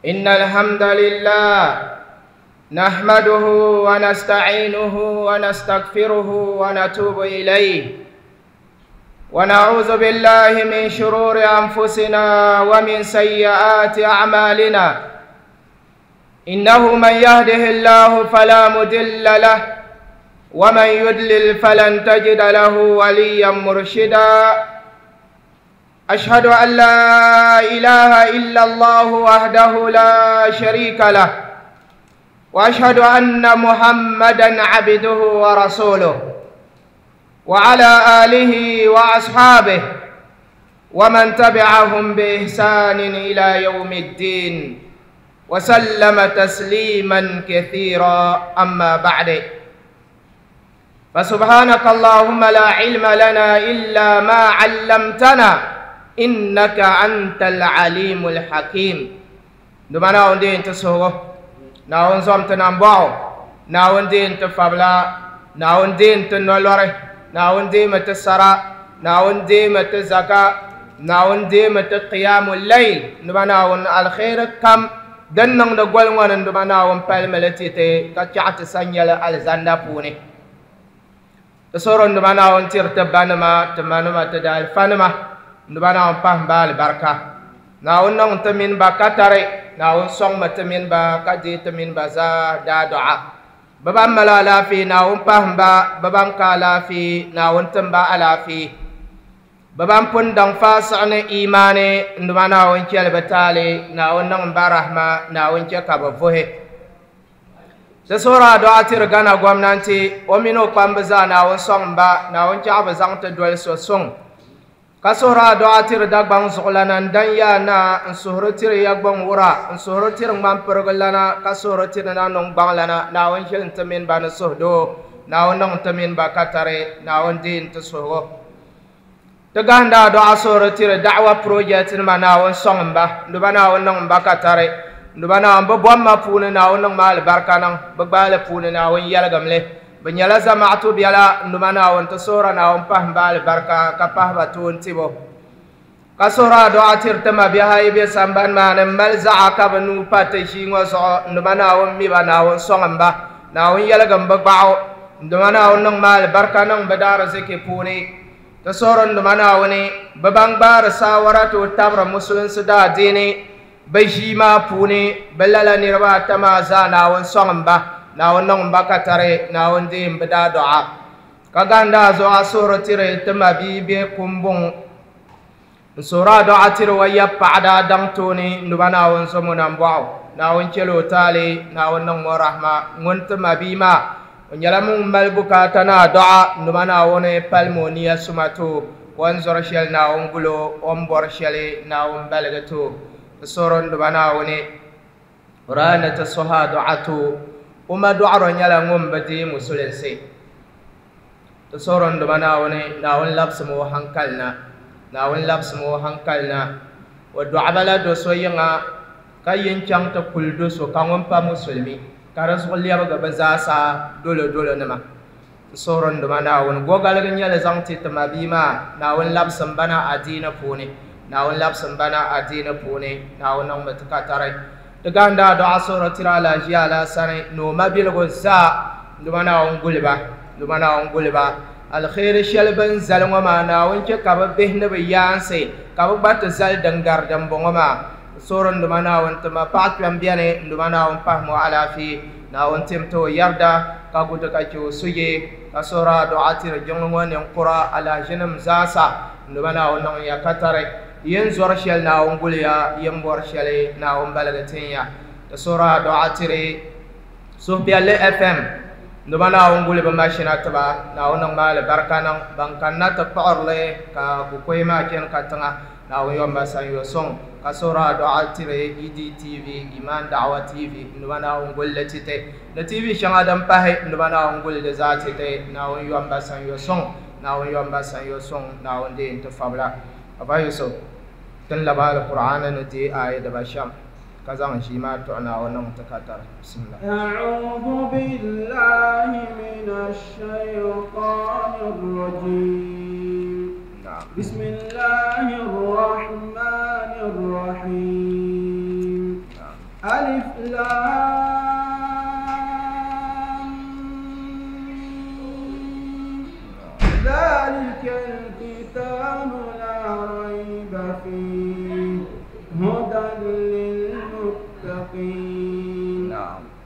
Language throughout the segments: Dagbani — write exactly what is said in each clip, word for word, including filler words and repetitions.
إن الحمد لله نحمده ونستعينه ونستغفره ونتوب إليه ونعوذ بالله من شرور أنفسنا ومن سيئات أعمالنا إنه من يهده الله فلا مضل له ومن يضلل فلن تجد له وليا مرشدا أشهد أن لا إله إلا الله وحده لا شريك له وأشهد أن محمدًا عبده ورسوله وعلى آله وأصحابه ومن تبعهم بإحسان إلى يوم الدين وسلم تسليما كثيرا. أما بعد، فسبحانك اللهم لا علم لنا إلا ما علمتنا إنك أنت العليم الحكيم. دمنا وندين تسوه ناون زمتنا باو ناون دين تفبلا ناون دين تنولره ناون دين تسرا ناون دين تزكا ناون دين تقيام الليل. دمنا ون الخير كم دنن دغول ون دمنا ون بالملتي كاتشات سانيال الزندا بوني تسورن دمنا ون ترتبانما تمانما تدال فانما دمنا ون پahmbal barka ناون نون تمين با كتري ناون سون ما تمين با كدي تمين با زا دا دعاء بابا ملا لا في ناون پهم با بابا كالا في ناون تم با الا في بابا پون دان فاسعن ايماني ندما ناون كيل بتالي ناون نون با رحمه ناون كي كبفوه سورة دعاء ترغانا gwamnati o mini o kpamba zaa naawuni sɔŋ ba naawuni chaɣ bi zaŋ ti doli so suŋ ka suhuri a dɔɣa tiri Dagbaŋ zuɣulana n dan yaa na n suhuri tiri ya gbaŋ wura n suhuri tiri ŋmanpirigu lana ka suhuri tiri na niŋgbaŋ lana naawuni ʒili n-ti mini ba ni suhudoo naawuni niŋ n-ti mini ba ka tari naawuni deei n-ti suhugu ti gahinda a dɔɣa suhuri tiri da'awa project nima naawuni sɔŋ n ba nduba naawuni niŋ n ba ka tari nduba naawuni bi bomma puuni naawuni niŋ ma alibarika niŋ bi gbaali puuni naawuni yɛligim li bi nyɛla zamaatu biɛla nduma naawuni ti suhura naawuni pahi ba alibarika ka pahi ba toon tibo ka suhura a dɔɣa tiri ti mabihi ayi be sambani maa ni m mali zaɣa ka bi nuu pa ti ʒii ŋɔ zuɣu nduma naawuni mi ba naawuni sɔŋ n ba naawuni yɛligim bi gbaɣu nduma naawuni niŋ ma alibarika niŋ bi daariziki puuni ti suhuri nduma naawuni bi ban gbaari saawara ti o tabiri musulinsi daadiini bi ʒii maa puuni bi lala niriba ata maa zaa naawuni sɔŋ n ba naawuni niŋ ba ka tari naawuni deei bi daa dɔɣa ka gahinda a zuɣu a suhuri tiri ti mabia be kumbuŋ n suhuri a dɔɣa tiri wa ya paɣa daa daŋ tooni nduba naawuni zomo nambɔɣu naawuni chɛli o taali naawuni niŋ o rahma ŋun ti mabia maa o nyɛla ŋun mali bukaata ni a dɔɣa nduba naawuni palimi o niya suma ti o o ni zɔri shɛli naawuni guli o o ni bɔri shɛli naawuni baligi ti o ti suhuri nduba naawuni o daa ni ti suhi a dɔɣa ti o o ma dɔɣiro nyɛla ŋun bi deei musulinsi ti suhuri nduba naawuni naawuni labisimi o hankali na naawuni labisimi o hankali na o dɔɣiba la do so yiŋa ka yin chaŋ ti kuli do so ka ŋun pa musulimi ka di zuɣu lɛbigi bi zaasa dolo dolo nima ti suhuri nduba naawuni gogaligi nyɛli zaŋ ti ti mabia maa naawuni labisim ba na adiini puuni naawuni labisim ba na adiini puuni naawuni niŋmi ti ka tari ti gahinda a dɔɣa suhuri tiri alaʒiya alaasani ni o mabiligu zaa nduma naawuni guli ba nduma naawuni guli ba alkhairi shɛli bin zali ŋɔ maa naawuni chɛ ka bi bihi ni bi yaansi ka bi gba ti zali din gari dimbɔŋɔ maa suhuri nduma naawuni ti ma paɣa kpɛm bɛni nduma naawuni pahimi o alaafee naawuni tim ti o yarida ka gu ti ka chɛ o suje ka suhuri a dɔɣa tiri jiŋli ŋɔ ninkura alahiʒinim zaasa nduma naawuni niŋ ya ka tari yin zɔri shɛli naawuni guli ya yin bɔri shɛli naawuni baligi tin ya ti suhuri a dɔɣa tiri suhupiɛlli F M nduba naawuni guli bi mashina tiba naawuni niŋ ma alibarika niŋ ban kanna ti kpuɣirili ka kukoyi maa chɛni ka tiŋa naawuni yɔn ba sanyo suŋ ka suhuri a dɔɣa tiri E D T V Iman Da'wa T V nduba naawuni guli li titi ni T V shɛŋa din pahi nduba naawuni guli li zaa titi naawuni yɔn ba sanyo suŋ naawuni yɔn ba sanyo suŋ naawuni deei n-ti fabila Aba Yusuf tin laba al-Qur'an ni deei aaya diba shɛm ka zaŋ ʒii maa tuɣi naawuni niŋ ti ka tari. Bismillah. أعوذ بالله من الشيطان الرجيم. نعم. بسم الله الرحمن الرحيم. نعم. ألف لام ذلك الكتاب لا ريب فيه هدى للمتقين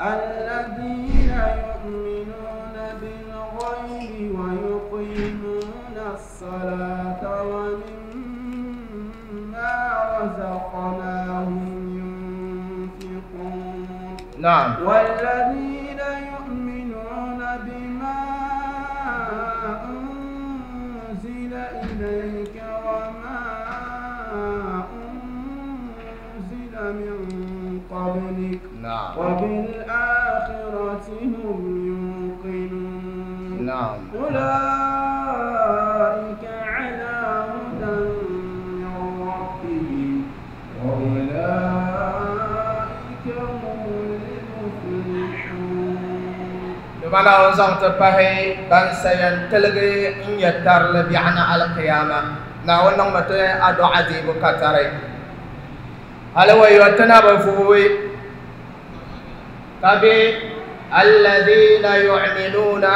الذين يؤمنون بالغيب ويقيمون الصلاة ومما رزقناهم ينفقون نعم والذين يؤمنون بما أنزل إليك وما أنزل من قبلك نعم وبالآخرة هم يوقنون نعم أولئك على هدى من ربهم وأولئك هم المفلحون Dumana o zaŋ ti pahi ban sayan tiligi n nyɛ tarili biɛɣuni alqiyama Naawuni niŋmi ti adu'a deebu ka tari hali wa yo ti na bi vuui ka be alladhina yu'minuna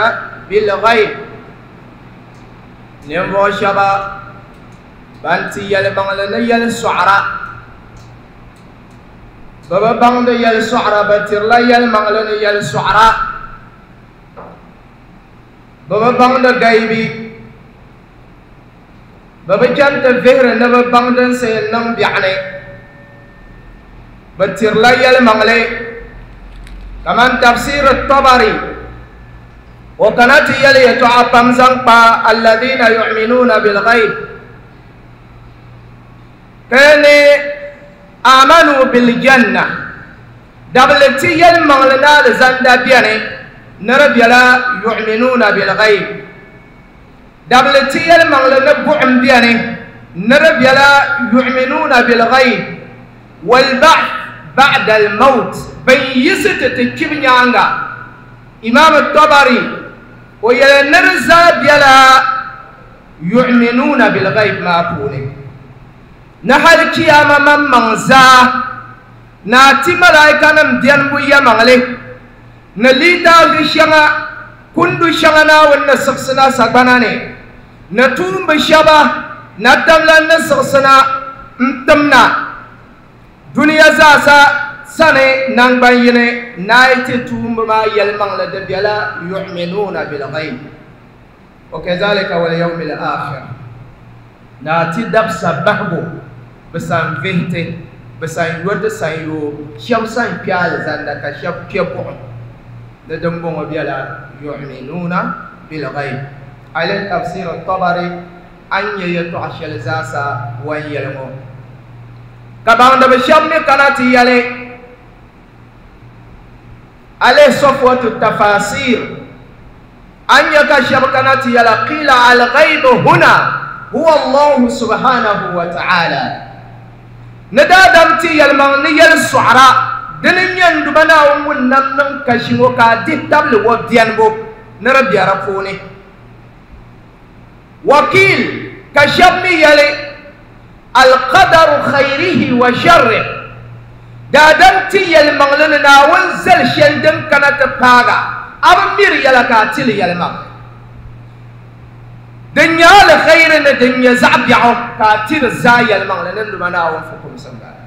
bilghayb ninvuɣu shɛba ban ti yɛlimaŋli ni yɛli sɔɣira bɛ bi baŋdi yɛli sɔɣira bɛ tirila yɛlimaŋli ni yɛli sɔɣira bɛ bi baŋdi gaibi bɛ bi chani ti vihiri ni bɛ baŋ din sa yɛn niŋ biɛɣuni bɛ tirila yɛlimaŋli kaman tafsir Tabari o kana ti yɛli yɛltɔɣa pam zaŋ kpa alladhina yu'minuna bilghayb ka ni amanu biljanna dabli ti yɛlimaŋli ni alizanda bɛni ni di bɛla yu'minuna bilghayb dabli ti yɛlimaŋli ni buɣum bɛni ni di bɛla yu'minuna bilghayb walba'th ba'da almaut ban yisi ti ti kpibu nyaanga Imam Tabari o yɛli ni di zaa bɛla yu'minuna bilghayb maa puuni ni hali kiyama maŋmaŋ zaa ni a ti malaikanim bɛnibu yɛmaŋli ni litaafi shɛŋa kundu shɛŋa Naawuni ni siɣisina sagbana ni ni tuumbi shɛba natamla ni siɣisina n timna duniya zaasa sani nangban yini naai ti tuumbi maa yɛlimaŋli di bɛla yu'minuna bilghayb wa kadhalika wal yawmil akhir na ti dabsa bahigu bi san vihiti bi san yoti san yoo shɛba san kpe alizanda ka shɛba kpe buɣum ni din bɔŋɔ bɛla yu'minuna bilghayb alih tafsir Tabari an nyɛ yɛltɔɣa shɛli zaasa wan yɛli ŋɔ ka baŋdibi shɛba mi kana ti yɛli alih safwatu tafasir an nyɛ ka shɛba kana ti yɛla qila alghayb huna huwa Allahu subhanahu wa ta'ala ni daadam ti yɛlimaŋ ni yɛli sɔɣira dini n nyɛ n Duuma Naawuni ŋun nam niŋ kashi ŋɔ ka a dihi tabili o bɛnibu ni di bɛ di puuni wakil ka shɛba mi yɛli alqadaru khayrihi wa sharrihi daadam ti yɛlimaŋli ni Naawuni zali shɛli din kana ti paaga a bi miri yɛla ka a tili yɛlimaŋli din nyɛ alkhayri ni din nyɛ zaɣ biɛɣu ka a tiri zaa yɛlimaŋli ni n Duuma Naawuni fukumsi m-bala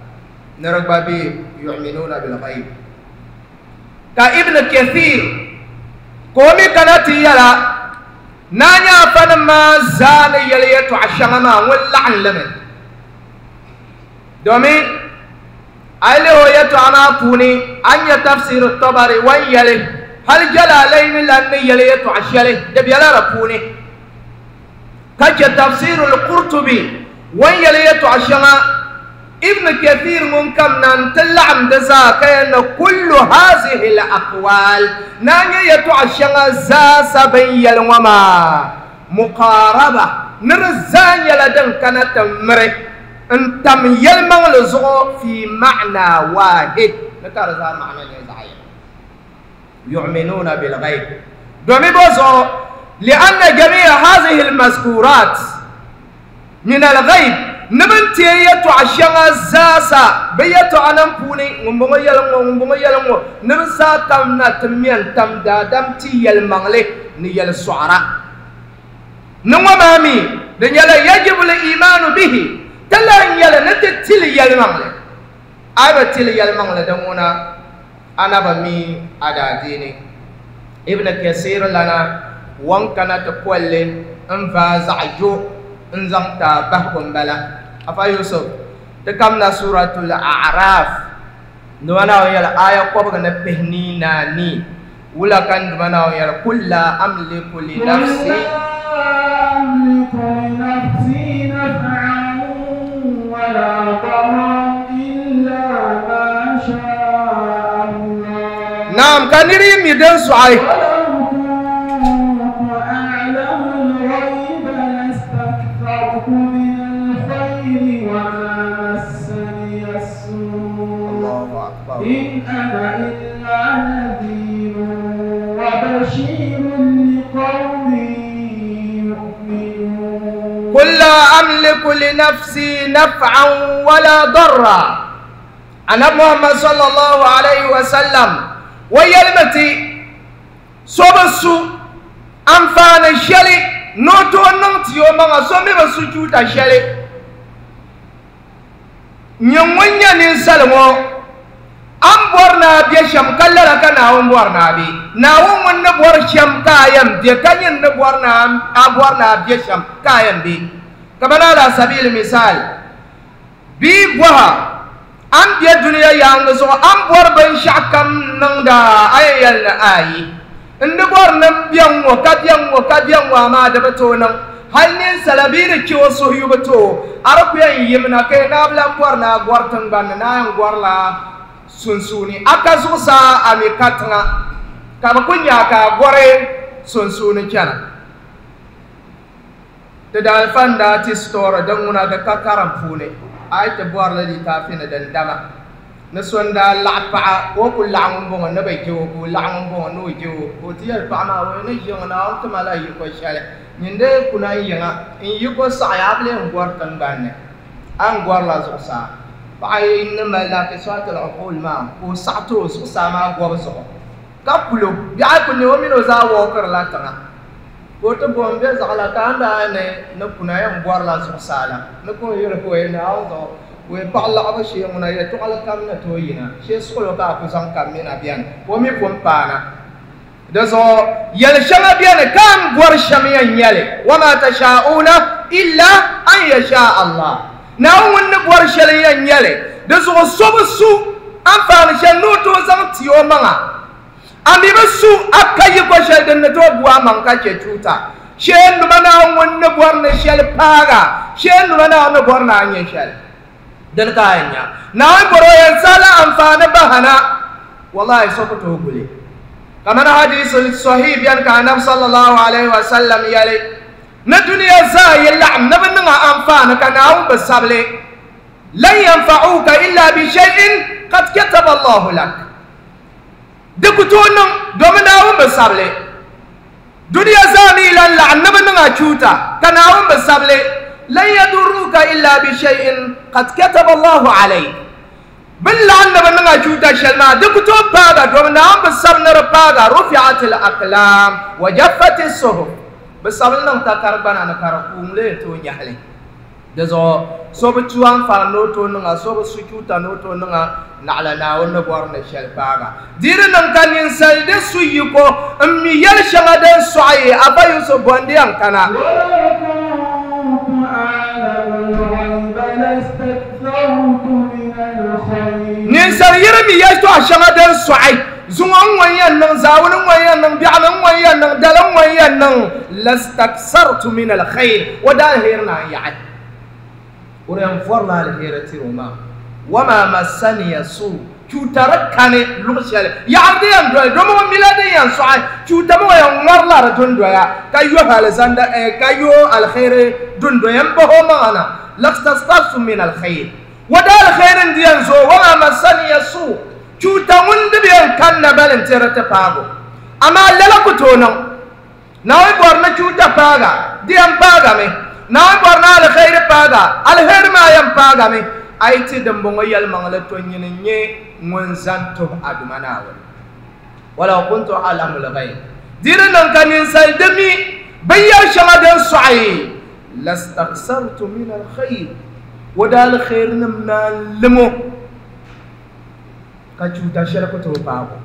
ni di gba be yu'minuna bilghayb ka Ibn Kathir ka o mi kana ti yɛla naa nyɛ afanim maa zaa ni yɛli yɛltɔɣa shɛŋa maa ŋun laɣim li mi domin a yi lihi o yɛltɔɣa maa puuni a ni nyɛ tafsir Tabari wan yɛli hali Jalalaini lan ni yɛli yɛltɔɣa shɛli di bɛla di puuni ka chɛ tafsir Qurtubi wan yɛli yɛltɔɣa shɛŋa Ibn Kathir ŋun kam na n-ti laɣim di zaa ka yɛli ni kullu hazihi al-aqwal naa nyɛ yɛltɔɣa shɛŋa zaasa bin yɛli ŋɔ maa muqaraba ni di zaa nyɛla din kana ti miri n tam yɛlimaŋli zuɣu fi ma'na wahid ni ka di zaa ma'na nyɛ zaɣ yini yu'minuna bilghayb domin bɔ zuɣu li'anna jami'a hazihi al-mazkurat min al-ghayb Nibin tiɛ yɛltɔɣa shɛŋa zaasa bɛ yɛltɔɣa nim puuni ŋun bɔŋɔ yɛli ŋɔ ŋun bɔŋɔ yɛli ŋɔ ni di zaa kam na ti mɛn tam daadam ti yɛlimaŋli ni yɛli sɔɣira ni ŋɔ maa mi di nyɛla yajibu l-imaanu bihi ti lan nyɛli ni ti tili yɛlimaŋli a yi bi tili yɛlimaŋli din ŋuna ana bi mi a daadiini Ibn Kasir lana wan kana ti kolli n vaa zaɣ jo n zaŋ ta bahigu n bala afa Yusuf ti kamna suratul A'raf nduma naawuni yɛli aya kɔbigi ni pihinii naani wula ka nduma naawuni yɛli kul la amliku li nafsi naam ka niri mi din sɔɣi إن أنا إلا نذير وبشير لقوم يؤمنون قل لا أملك لنفسي نفعا ولا ضرا أنا محمد صلى الله عليه وسلم ويلمتي صوبسو أنفان الشلي نوتو نمتيو مغا صومي بسجود الشلي نيوانيا ننسلمو an bɔri naa bɛ shɛm ka lala ka Naawuni bɔri naa bɛ Naawuni ŋun ni bɔri shɛm ka a yɛn bɛ ka nyin ni bɔri naa a bɔri naa bɛ shɛm ka a yɛn bɛ kamani ala sabili misal bii bɔha an bɛ duniya yaangi zuɣu an bɔri binshaɣu kam niŋda a yɛn yɛli ni ayi n ni bɔri ni n bɛ ŋɔ ka bɛ ŋɔ ka bɛ ŋɔ amaa di bi tooi niŋ hali ninsala bii di chɛ o suhuyubu too a di ku yɛn yimna ka naa bi lan bɔri naa gɔri tingbani ni naa yɛn gɔrila sunsuuni a ka zuɣusaa a mi ka tiŋa ka bi ku nya ka a gɔri sunsuuni chɛna ti daalifa n daa ti sitoori din ŋuna di ka karim puuni a yi ti bɔrili litaafi ni din dama ni so n daa laɣa paɣa ka o ku laɣa ŋun bɔŋɔ ni bi je o ka o laɣa ŋun bɔŋɔ ni o je o ka o ti yɛli paɣa maa o ni ʒiŋ Naawuni tima la yiko shɛli nyin dee kuna n yiŋa n yiko saɣaya a bi lee n gɔri tingbanni a ni gɔrila zuɣusaa paɣa ni mali naakisɔatil uqul maa ka o saɣa ti o zuɣusaa maa gɔbu zuɣu ka kulo biɛɣu ku ne o mini o zaa wɔɔkirila tiŋa ka o ti bo n bɛ zaɣala ka an daa ni ni kuna yɛn gɔrila zuɣusaa la ni ka o yɛli ka o yɛli Naawuni zuɣu o yɛ paɣa laɣabu shee ŋuna yɛltɔɣali kam ni tooi yina shee suɣulo ka a ku zaŋ kam mina biɛni ka o mi pun paana di zuɣu yɛli shɛŋa biɛni ka an gɔri shɛm yɛn nyɛli wama tashauna illa an yasha Allah Naawuni ŋun ni bɔri shɛli yɛn nyɛli di zuɣu so bi su anfaani shɛli ni o tooi zaŋ ti o maŋa a mi bi su a ka yiko shɛli din ni tooi bu a maŋ ka chɛ chuuta shee numa Naawuni ŋun ni bɔri ni shɛli paaga shee numa Naawuni ni bɔri ni a nyɛ shɛli din ka a yɛn nya Naawuni bɔri o yɛn sala anfaani bahana wallahi so ku tooi guli kamani hadisul sahih biɛni ka anabi sallallahu alaihi wa sallam yɛli ni duniya zaa yi laɣim ni bi niŋ a anfaani ka Naawuni bi sabili lan yanfa'uka illa bi shay'in qad kataba Allahu lak di ku tooi niŋ domi Naawuni bi sabili duniya zaa mi lan laɣim ni bi niŋ a chuuta ka Naawuni bi sabili lan yaduruka illa bi shay'in qad kataba Allahu alayk bin laɣim ni bi niŋ a chuuta shɛli maa di ku tooi paaga domi Naawuni bi sabi ni di paaga rufi'at al-aqlam wa jaffat as-suhuf bi sabili niŋ takari gbana ni ka di kuum lee tooi nyɛhili di zuɣu so bi tu anfaani ni o tooi niŋa so bi su chuuta ni o tooi niŋa naɣala Naawuni ni bɔri ni shɛli paaga di di niŋ ka ninsali di su yiko n mi yɛli shɛŋa din sɔɣi afa Yusuf bɔndi yɛn kana ninsali yiri mi yɛltɔɣa shɛŋa din sɔɣi zuŋɔ n ŋɔ yɛn niŋ zaawuni n ŋɔ yɛn niŋ biɛɣuni n ŋɔ yɛn niŋ dali n ŋɔ yɛn niŋ lastaksartu min alkhayr o daa alheri naan yaɣi o di yɛn vɔrila alheri tiri o maa wama massaniya suu chuutari kani luɣu shɛli yaɣari di yɛn doli domi o mila din yɛn sɔɣi chuuta mi o yɛn ŋɔrila di dundoya ka yo alizanda ka yo alheri dundoya n bahi o maŋa na lastaksartu min alkhayr o daa alheri n di yɛn zooi wama massaniya suu chuuta ŋun di bi yɛn kanna balin tiri ti paago amaa lala ku tooi niŋ Naawuni bɔri ni chuuta paaga di yɛn paagami Naawuni bɔri ni alkhairi paaga alheri maa yɛn paagami a yi ti dimbɔŋɔ yɛlimaŋli to nyini n-nyɛ ŋun zani tuhi a duma Naawuni walaw kuntu a'lamu l-ghayb di di niŋ ka ninsal di mi binyɛr shɛŋa din sɔɣi lastaksartu min alkhayr o daa alkhairinim naan limo ka chuuta shɛli ku tooi paago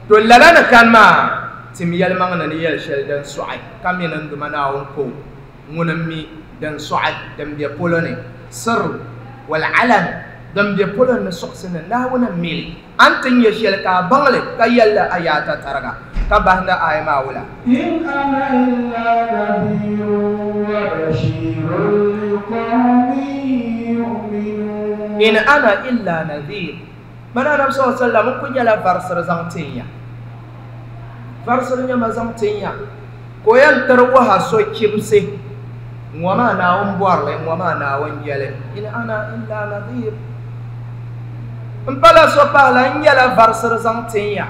to lala ni kani maa tim yɛlimaŋli ni yɛli shɛli din sɔɣi ka mi ni n duma Naawuni ko ŋuni mi din sɔɣi din be polo ni sir wal alan din be polo ni suɣisi ni Naawuni n mili an ti nyɛ shɛli ka a baŋli ka yɛlli a yaata tariga ka bahinda aya maa wula إن أنا إلا نذير وبشير لقوم يؤمنون in ana illa nadhir mana Annabi sallallahu alaihi wasallam ku nyɛla varisiri zaŋ tin ya varisiri nyɛma zaŋ tin ya ka o yɛn tiri waha so chibisi ŋɔ maa Naawuni bɔrili ŋɔ maa Naawuni yɛli in ana illa nadhir n pala so pahila n nyɛla varisiri zaŋ tin ya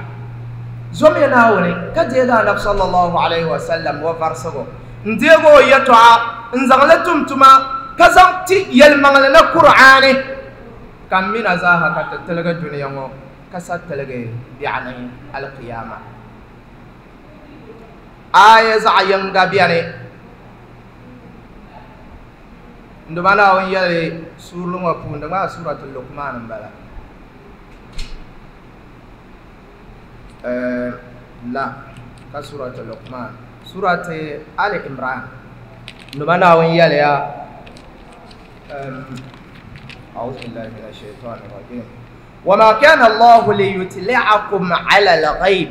zomiya Naawuni ka deegi Annabi sallallahu alaihi wasallam wa varisigu n deegi o yɛtɔɣa n zaŋli tum tuma ka zaŋ ti yɛlimaŋli ni Qur'aani ka n mina zaaha ka ti tiligi duniya ŋɔ ka sa tiligi biɛɣuni alqiyama aya zaɣ yinga bɛni n duma Naawuni yɛli suurili ŋɔ puuni di maa Suratul Luqman n bala la ka Suratul Luqman Surati Ali Imran n duma Naawuni yɛliya أعوذ بالله من الشيطان الرجيم وما كان الله ليطلعكم على الغيب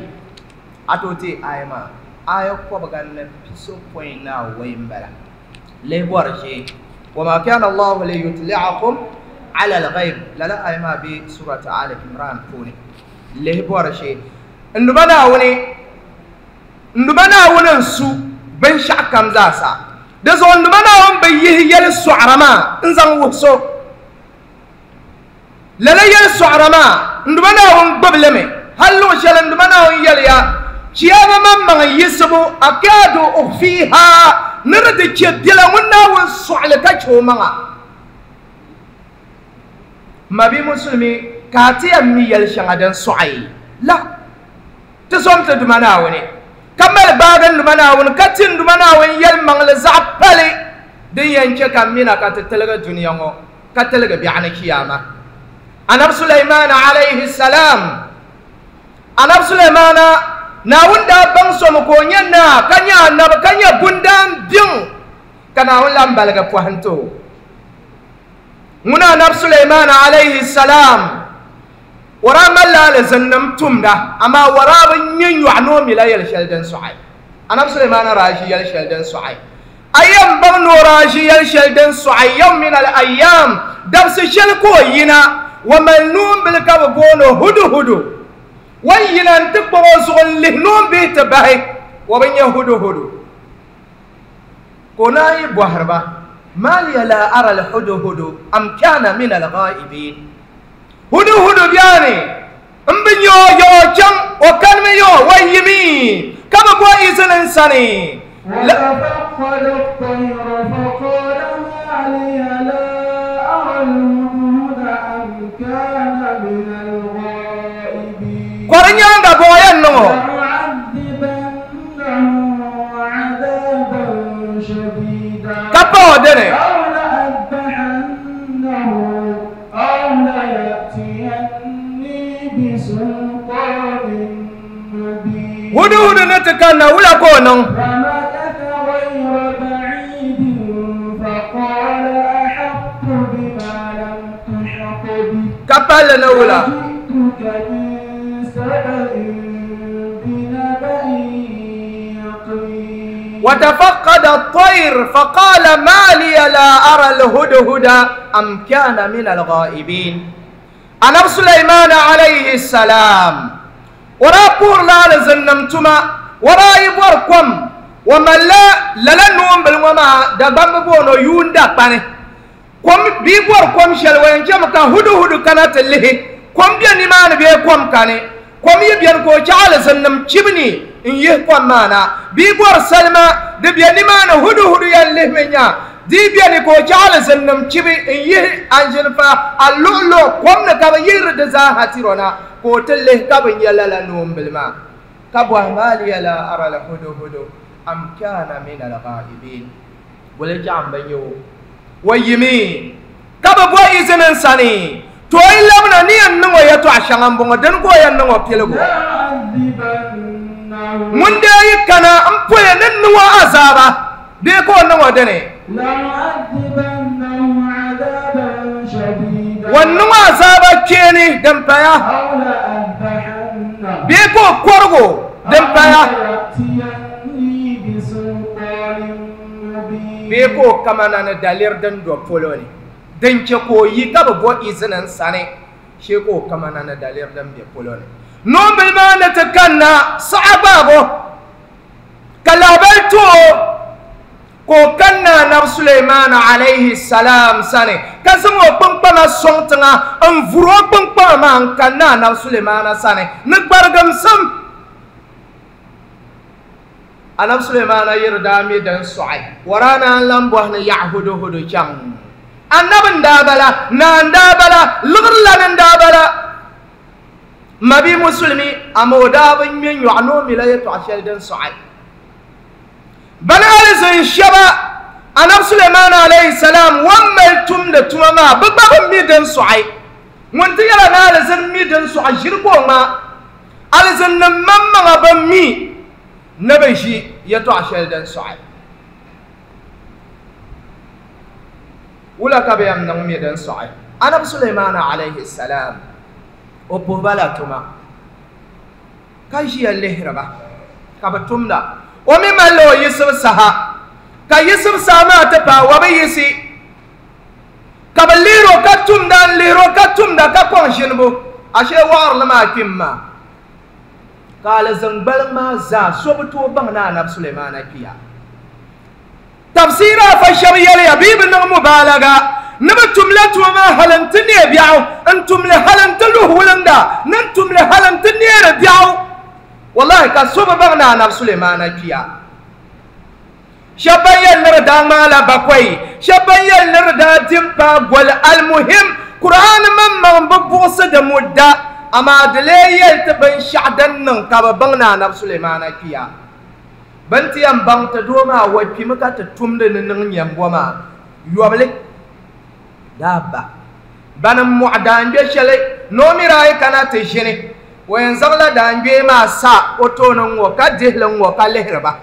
أتوتي آية ما آية كوبغان بيسو بوين نا وين بلا ليبورشي وما كان الله ليطلعكم على الغيب لا لا آية ما بسورة آل عمران فوني ليبورشي إنه بنا وني إنه بنا وننسو بن شعكم زاسا دزو إنه بنا ون بيه يلسو عرما إنزان وحسو lala yɛli sɔɣira maa n duma Naawuni gbubi li mi hali luɣu shɛli n duma Naawuni yɛliya chiyaama maŋmaŋ yiɣisibu akaadu ukhfiha ni di ti chɛ biɛla ŋun Naawuni sɔɣili ka chɛ o maŋa mabi musulimi ka a ti yɛn mi yɛli shɛŋa din sɔɣi la ti zom ti duma Naawuni ka mali baagi n duma Naawuni ka ti n duma Naawuni yɛlimaŋli zaɣ pali din yɛn chɛ ka mina ka ti tiligi duniya ŋɔ ka tiligi biɛɣuni chiyaama Annabi Sulaiman alayhi salam Annabi Sulaiman Naawuni daa baŋ so mi ka o nyɛ naa ka nyɛ annabi ka nyɛ bundaan biŋ ka Naawuni lan baligi pɔhim ti o ŋuna Annabi Sulaiman alayhi salam o daa malila alizinnim tumda amaa o daa bi nyɛ nyɔɣu ni o mila yɛli shɛli din sɔɣi Annabi Sulaiman daa ʒi yɛli shɛli din sɔɣi a yɛn baŋ ni o daa ʒi yɛli shɛli din sɔɣi yawm min al-ayyam dabsi shɛli ka o yina wa mal nuun bil ka bi booni hudu hudu wan yina n ti kpuɣi o zuɣu n lihi nuun bihi ti bahi o bi nyɛ hudu hudu ka o naan yi bɔhiri ba ma liya la ara al hudu hudu am kana min al ghaibin hudu hudu bɛni n bi nyɛ o yɛ o chaŋ o kanimi yɛ o wan yimi ka bi bo izini n sani وتفقد الطير فقال ما لي لا أرى الهدهد أم كان من الغائبين kɔri nyaaŋa bɔŋɔ yɛn niŋ o لأعذبنه عذابا شديدا ka pa o dini أو لأذبحنه أو ليأتيني بسلطان مبين hudu hudu ni ti kanna wula ka o niŋ فمكث غير بعيد فقال أحطت بما لم تحط به ka palli ni wula وجئتك من سبأ بنبأ يقين وتفقد الطير فقال ما لي لا أرى الهدهد أم كان من الغائبين Annabi Sulaiman alayhi salam o daa puhirila alizinnima tuma o daa yi bɔri kom o malila lala noonbili ŋɔ maa Dagbamb booni o yuunda kpani kom bia bɔri kom shɛli o yɛn chɛmi ka hudu hudu kana ti lihi kom bɛ nimaani bee kom kani kom yi bɛni ka o chaɣ alizinnim chibi ni n yihi kom maa na bia bɔri salima di bɛ nimaani hudu hudu yɛn lihimi nya di bɛni ka o chaɣ alizinnim chibi n yihi anzinfa a luɣuluɣu kom ni ka bi yihiri di zaaha tiro na ka o ti lihi ka bi nyɛ lala noombili maa ka bɔhi maaliya la ara la hudu hudu am kana min alghaibin boli chaɣ n bi nyɛ o o yimi ka bi bɔ izini n sani to o yi labina ni yɛn niŋ o yɛltɔɣa shɛŋa n bɔŋɔ dini ka o yɛn niŋ o piligu ŋun dee yi kana n poya ni niŋ o azaaba bee ka o niŋ o dini o niŋ o azaaba kpeeni din paya bee ka o kɔrigu din paya bee ka o kamana ni daliri din do polo ni din che ka o yi ka bi bo izini n sani shee ka o kamana ni daliri din be polo ni noombili maa ni ti kanna saɣa gbaago ka lahabali ti o ka o kanna anabi Suleimana alayhi salam sani ka zaŋ o kpunkpama sɔŋ tiŋa n vuri o kpunkpama maa n kanna anabi Suleimana sani ni gbarigimsim anabi Suleimana yiri daa mi din sɔɣi waraana n lan bɔhi ni yaɣa hudu hudu chaŋ annabi n daa bala naa n daa bala liɣiri lani n daa bala mabi musulmi ama o daa bi ŋmɛ nyɔɣu ni o mila yɛltɔɣa shɛli din sɔɣi bani alizin shɛba anabi Suleimana alayhi salam wan mali tumdi tuma maa bi gba bi mi din sɔɣi ŋun ti yɛla ni alizin mi din sɔɣi ʒiri ka o ŋmaa alizin nim maŋmaŋa bi mi ni bi ʒi yɛltɔɣa shɛli din sɔɣi wula ka bi yɛn niŋ mi din sɔɣi anabi Suleimana alayhi salam o puhiba la tuma ka ʒiya lihiriba ka bi tumda o mi malila o yiɣisibu saha ka yiɣisibu saha maa ti paai wa bi yiɣisi ka bi lihiri o ka tumda n lihiri o ka tumda ka kɔŋ ʒinibu ashee waɣarili maa kpim maa ka alizin gbaliŋ maa zaa so bi tooi baŋ ni anabi Suleimana kpiya tafsira afa shɛba yɛliya bee bi niŋ mubaalaga ni bi tumla tuma maa hali n ti neei biɛɣu n tumli hali n ti luhi wulinda ni n tumli hali n ti neeri biɛɣu wallahi ka so bi baŋ ni anabi Suleimana kpiya shɛba ban yɛli ni di daa ŋmaala bakɔi shɛba ban yɛli ni di daa dim paai goli almuhim Qur'an maŋmaŋ bi buɣisi di mudda amaa di lee yɛli ti binshaɣu din niŋ ka bi baŋ ni anabi Suleimana kpiya bin ti yɛn baŋ ti doo maa wa kpimi ka ti tumdi ni niŋ nyɛmbo maa yɔbili daaba bani mɔɣu daangbɛ shɛli ni o mi daa yi kana ti ʒini o yɛn zaŋla daangbee maa sa o tooni ŋɔ ka dihili ŋɔ ka lihiri ba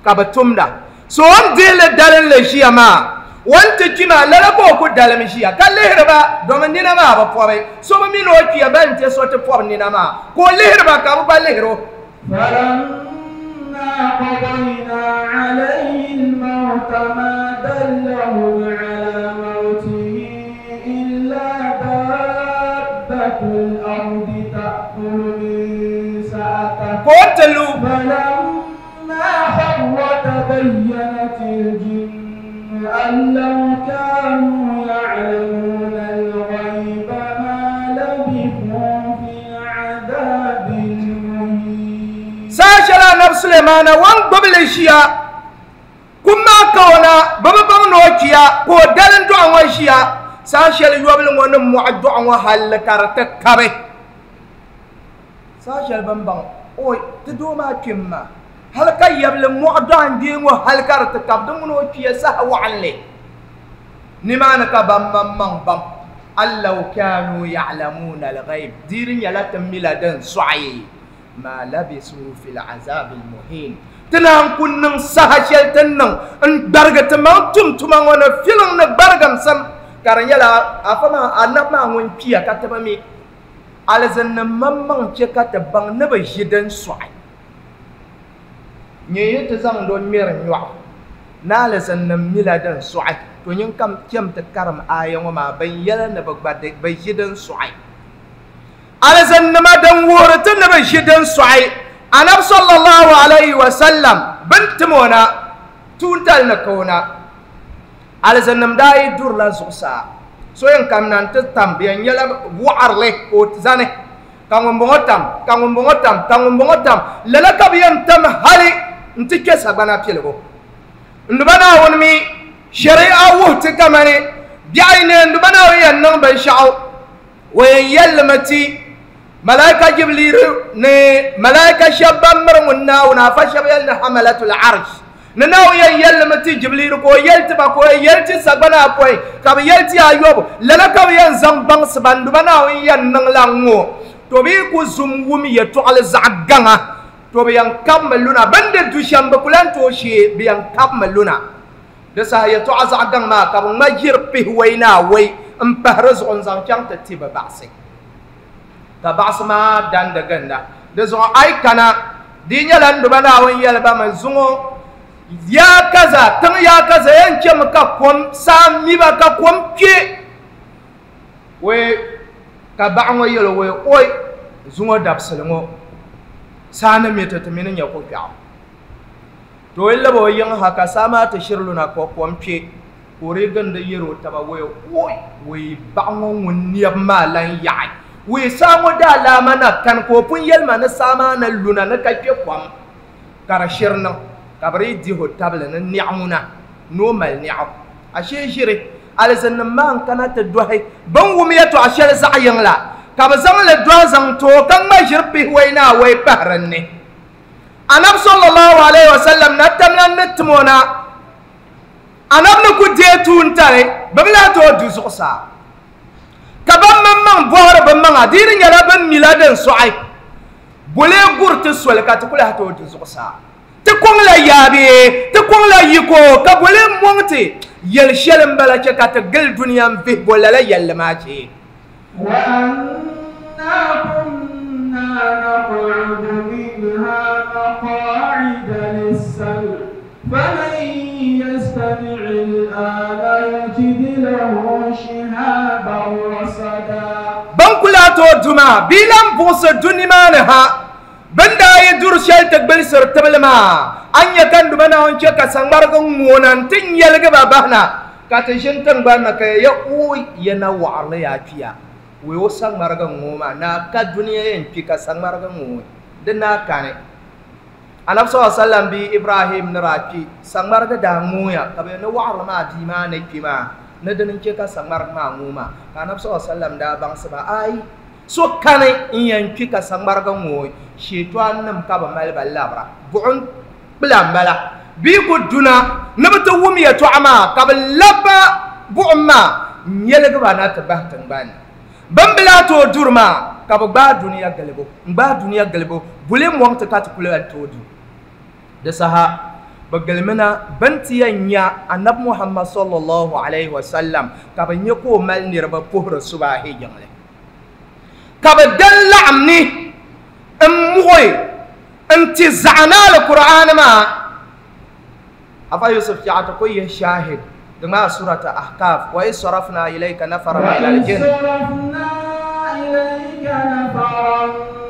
ka bi tumda so o ni dihili dalinli ʒiya maa o ni ti kpi maa lala ka o ku dalim ʒiya ka lihiri ba domi nina maa bi pɔbi so bi mi ni o kpiya ba n ti so ti pɔbi nina maa ka o lihiri ba ka bi gba lihiri o. قضينا عليه الموت ما دلهم على موته إلا دابة الأرض تأكل من سأته فلما خر تبينت الجن أن لو كانوا يعلمون الغيب ما لبثوا في العذاب المهين. Saashɛla anabi Suleimana wan gbubili ʒiya kum maa kawana bi bi baŋ ni o kpiya ka o dalim dɔɣu ŋɔ ʒiya saha shɛli yɔbili ŋɔ ni mɔɣu dɔɣu ŋɔ halli ka di ti kabi saha shɛli bin baŋ o ti doo maa kpim maa hali ka yɛbili mɔɣu dɔɣu n gbee ŋɔ hali ka di ti kabi di ŋuni o kpiya saha waɣinli nimaani ka ban maŋmaŋ baŋ an law kanu ya'lamuna al-ghayb diiri nyɛla ti mila din sɔɣi ma labisu fi al-azab al-muhin tinaan ku niŋ saha shɛli ti niŋ n gbarigi ti maŋ tum tuma ŋɔ ni filiŋ ni gbarigimsim ka di nyɛla afa maa anabi maa ŋun kpiya ka ti bi mi alizinnim maŋmaŋ chɛ ka ti baŋ ni bi ʒi din sɔɣi nyɛ yi ti zaŋdi o ŋmɛri nyɔɣu ni alizinnim mila din sɔɣi to nyin kam chɛm ti karim aya ŋɔ maa bin yɛli ni bi gba bi ʒi din sɔɣi alizinnima din wuhiri ti ni bi ʒi din sɔɣi anabi sallallahu alayhi wa sallam bin tim o na tuuntali ni ka o na alizinnim daa yi durila zuɣusaa so yɛn kamina n ti tam bi yɛn nyɛla waɣarili ka o zani ka ŋun bɔŋɔ tam ka ŋun bɔŋɔ tam ka ŋun bɔŋɔ tam lala ka bi yɛn tam hali n ti kpɛ sagbana piligu Nduba Naawuni mi shari'a wuhi ti kamani biɛɣu ne nduba Naawuni yɛn niŋ binshaɣu o yɛn yɛlimi ti malaika Jibril ni malaika shɛba ban miri ŋun Naawuni afa shɛba yɛli ni hamalatul arsh ni Naawuni yɛn yɛlimi ti Jibril ka o yɛli ti ba ka o yɛli ti sagbana apɔin ka bi yɛli ti ayɔbu lala ka bi yɛn zaŋ baŋsi ba nduba Naawuni yɛn niŋ la ŋɔ to bi ku zum wum yɛltɔɣali zaɣ gaŋa to bi yɛn kabimi luna bin di du shɛm bi ku lan tooi shee bi yɛn kabimi luna di saha yɛltɔɣa zaɣ gaŋ maa ka bi ŋma ʒiri pihiwɔi ni awɔi n pahi di zuɣu n zaŋ chaŋ ti ti bi baɣasi ka baɣasi maa dandi ginda di zuɣu a yi kana di nyɛla nduba Naawuni yɛli ba mi zuŋɔ yaa kaza tiŋ yaa kaza yɛn chɛmi ka kom saa miba ka kom kpe wei ka baɣa ŋɔ yɛli wei oi zuŋɔ dabisili ŋɔ saa ni mi ti ti mini nyɛ kokpɛɣu to o yi labi o yiŋ ha ka saa maa ti shiri luna ka kom kpe ka o dii gindi yɛri o taba wei oi wei baɣa ŋɔ ŋun nɛbi maa lan yaɣi wei saa ŋɔ daalaama na kani ka o pun yɛli ma ni saa maa ni luna ni ka kpe kom ka di shiri niŋ ka bi dii dihi o tabili ni niɛɣu ŋuna ni o mali niɛɣu ashee ʒiri alizinnim maa n kana ti dɔhi bin wum yɛltɔɣa shɛli zaɣ yiŋ la ka bi zaŋ li dɔhi zaŋ ti o ka ŋma ʒiri pihiwɔi ni awɔi pahi dinni Annabi sallallahu alaihi wasallam na tamla ni timo na annabi ni ku deei tuuntali bi bi lahi tooi du zuɣusaa ka ban maŋmaŋ bɔhiri bi maŋa di di nyɛla bin mila din sɔɣi bulee guri ti soli ka ti ku lahi tooi du zuɣusaa ti kɔŋ la yaabee ti kɔŋ la yiko ka bulee mɔŋ ti yɛli shɛli n bala chɛ ka ti gili duniya n vihi bo lala yɛlli maa chee. وأنا كنا نقعد منها مقاعد للسمع فمن يستمع الآن يجد له شهابا رصدا Ban kula to duma bi lan buɣusi duni maa ni ha bin daa yi duri shɛli ti gbilisiri tibili maa an nyɛ ka nduba Naawuni chɛ ka saŋmarigi ŋoona n ti nyɛligi ba bahina ka ti ʒini tingbani ni ka ya ui ya na waɣarili yaa kpiya wei o saŋmarigi ŋoo maa naa ka duniya yɛn kpi ka saŋmarigi ŋoo di naa kani Annabi sallallahu alaihi wasallam bi Ibrahim ni daa kpi saŋmarigi daa ŋooya ka bi ni waɣarili maa bia maa ni kpi maa ni dini n chɛ ka saŋmarigi maa ŋoo maa ka Annabi sallallahu alaihi wasallam daa baŋsi ba ai so kani n yɛn kpi ka saŋmarigi ŋoo sheetɔan nim ka bi mali ba labira buɣum kpila n bala bii ku duna ni bi ti wum yɛltɔɣa maa ka bi laba buɣum maa n yɛligi ba na ti bahi tingbani bin bi lahi tooi duri maa ka bi gbaai duniya gilibu n gbaai duniya gilibu buli mɔŋ ti ka ti kuli lan tooi du di saha bi gilimina bin ti yɛn nya Annabi Muhammad sallallahu alaihi wasallam ka bi nyɛ ka o mali niriba puhiri subahi jiŋli ka bi dan laɣim ni n muɣi n ti zaɣa na Alkur'aan maa afa Yusuf chɛɣu ti ku yihi shahid di maa surata Ahqaf wa iz sarafna ilayka nafaran min al-jinn وصرفنا إليك نفرا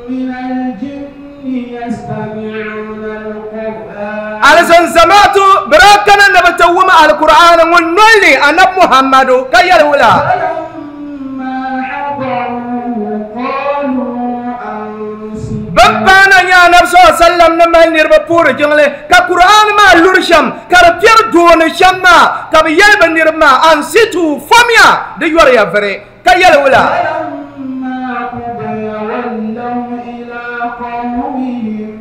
من الجن يستمعون القرآن alizan zamaatu bira kana na bi ti wum Alkur'aan ŋun noli ni Annabi Muhammadu ka yɛli wula فلما حضروه قالوا أنصتوا bin paana nyɛ Annabi sallallahu alaihi wasallam ni mali niriba puhiri jiŋli ka Kur'aan maa luri shɛm ka di piɛri dooni shɛm maa ka bi yɛli bi niriba maa ansitu fomya di yɔriya viri ka yɛli wula فلما قضي ولوا إلى قومهم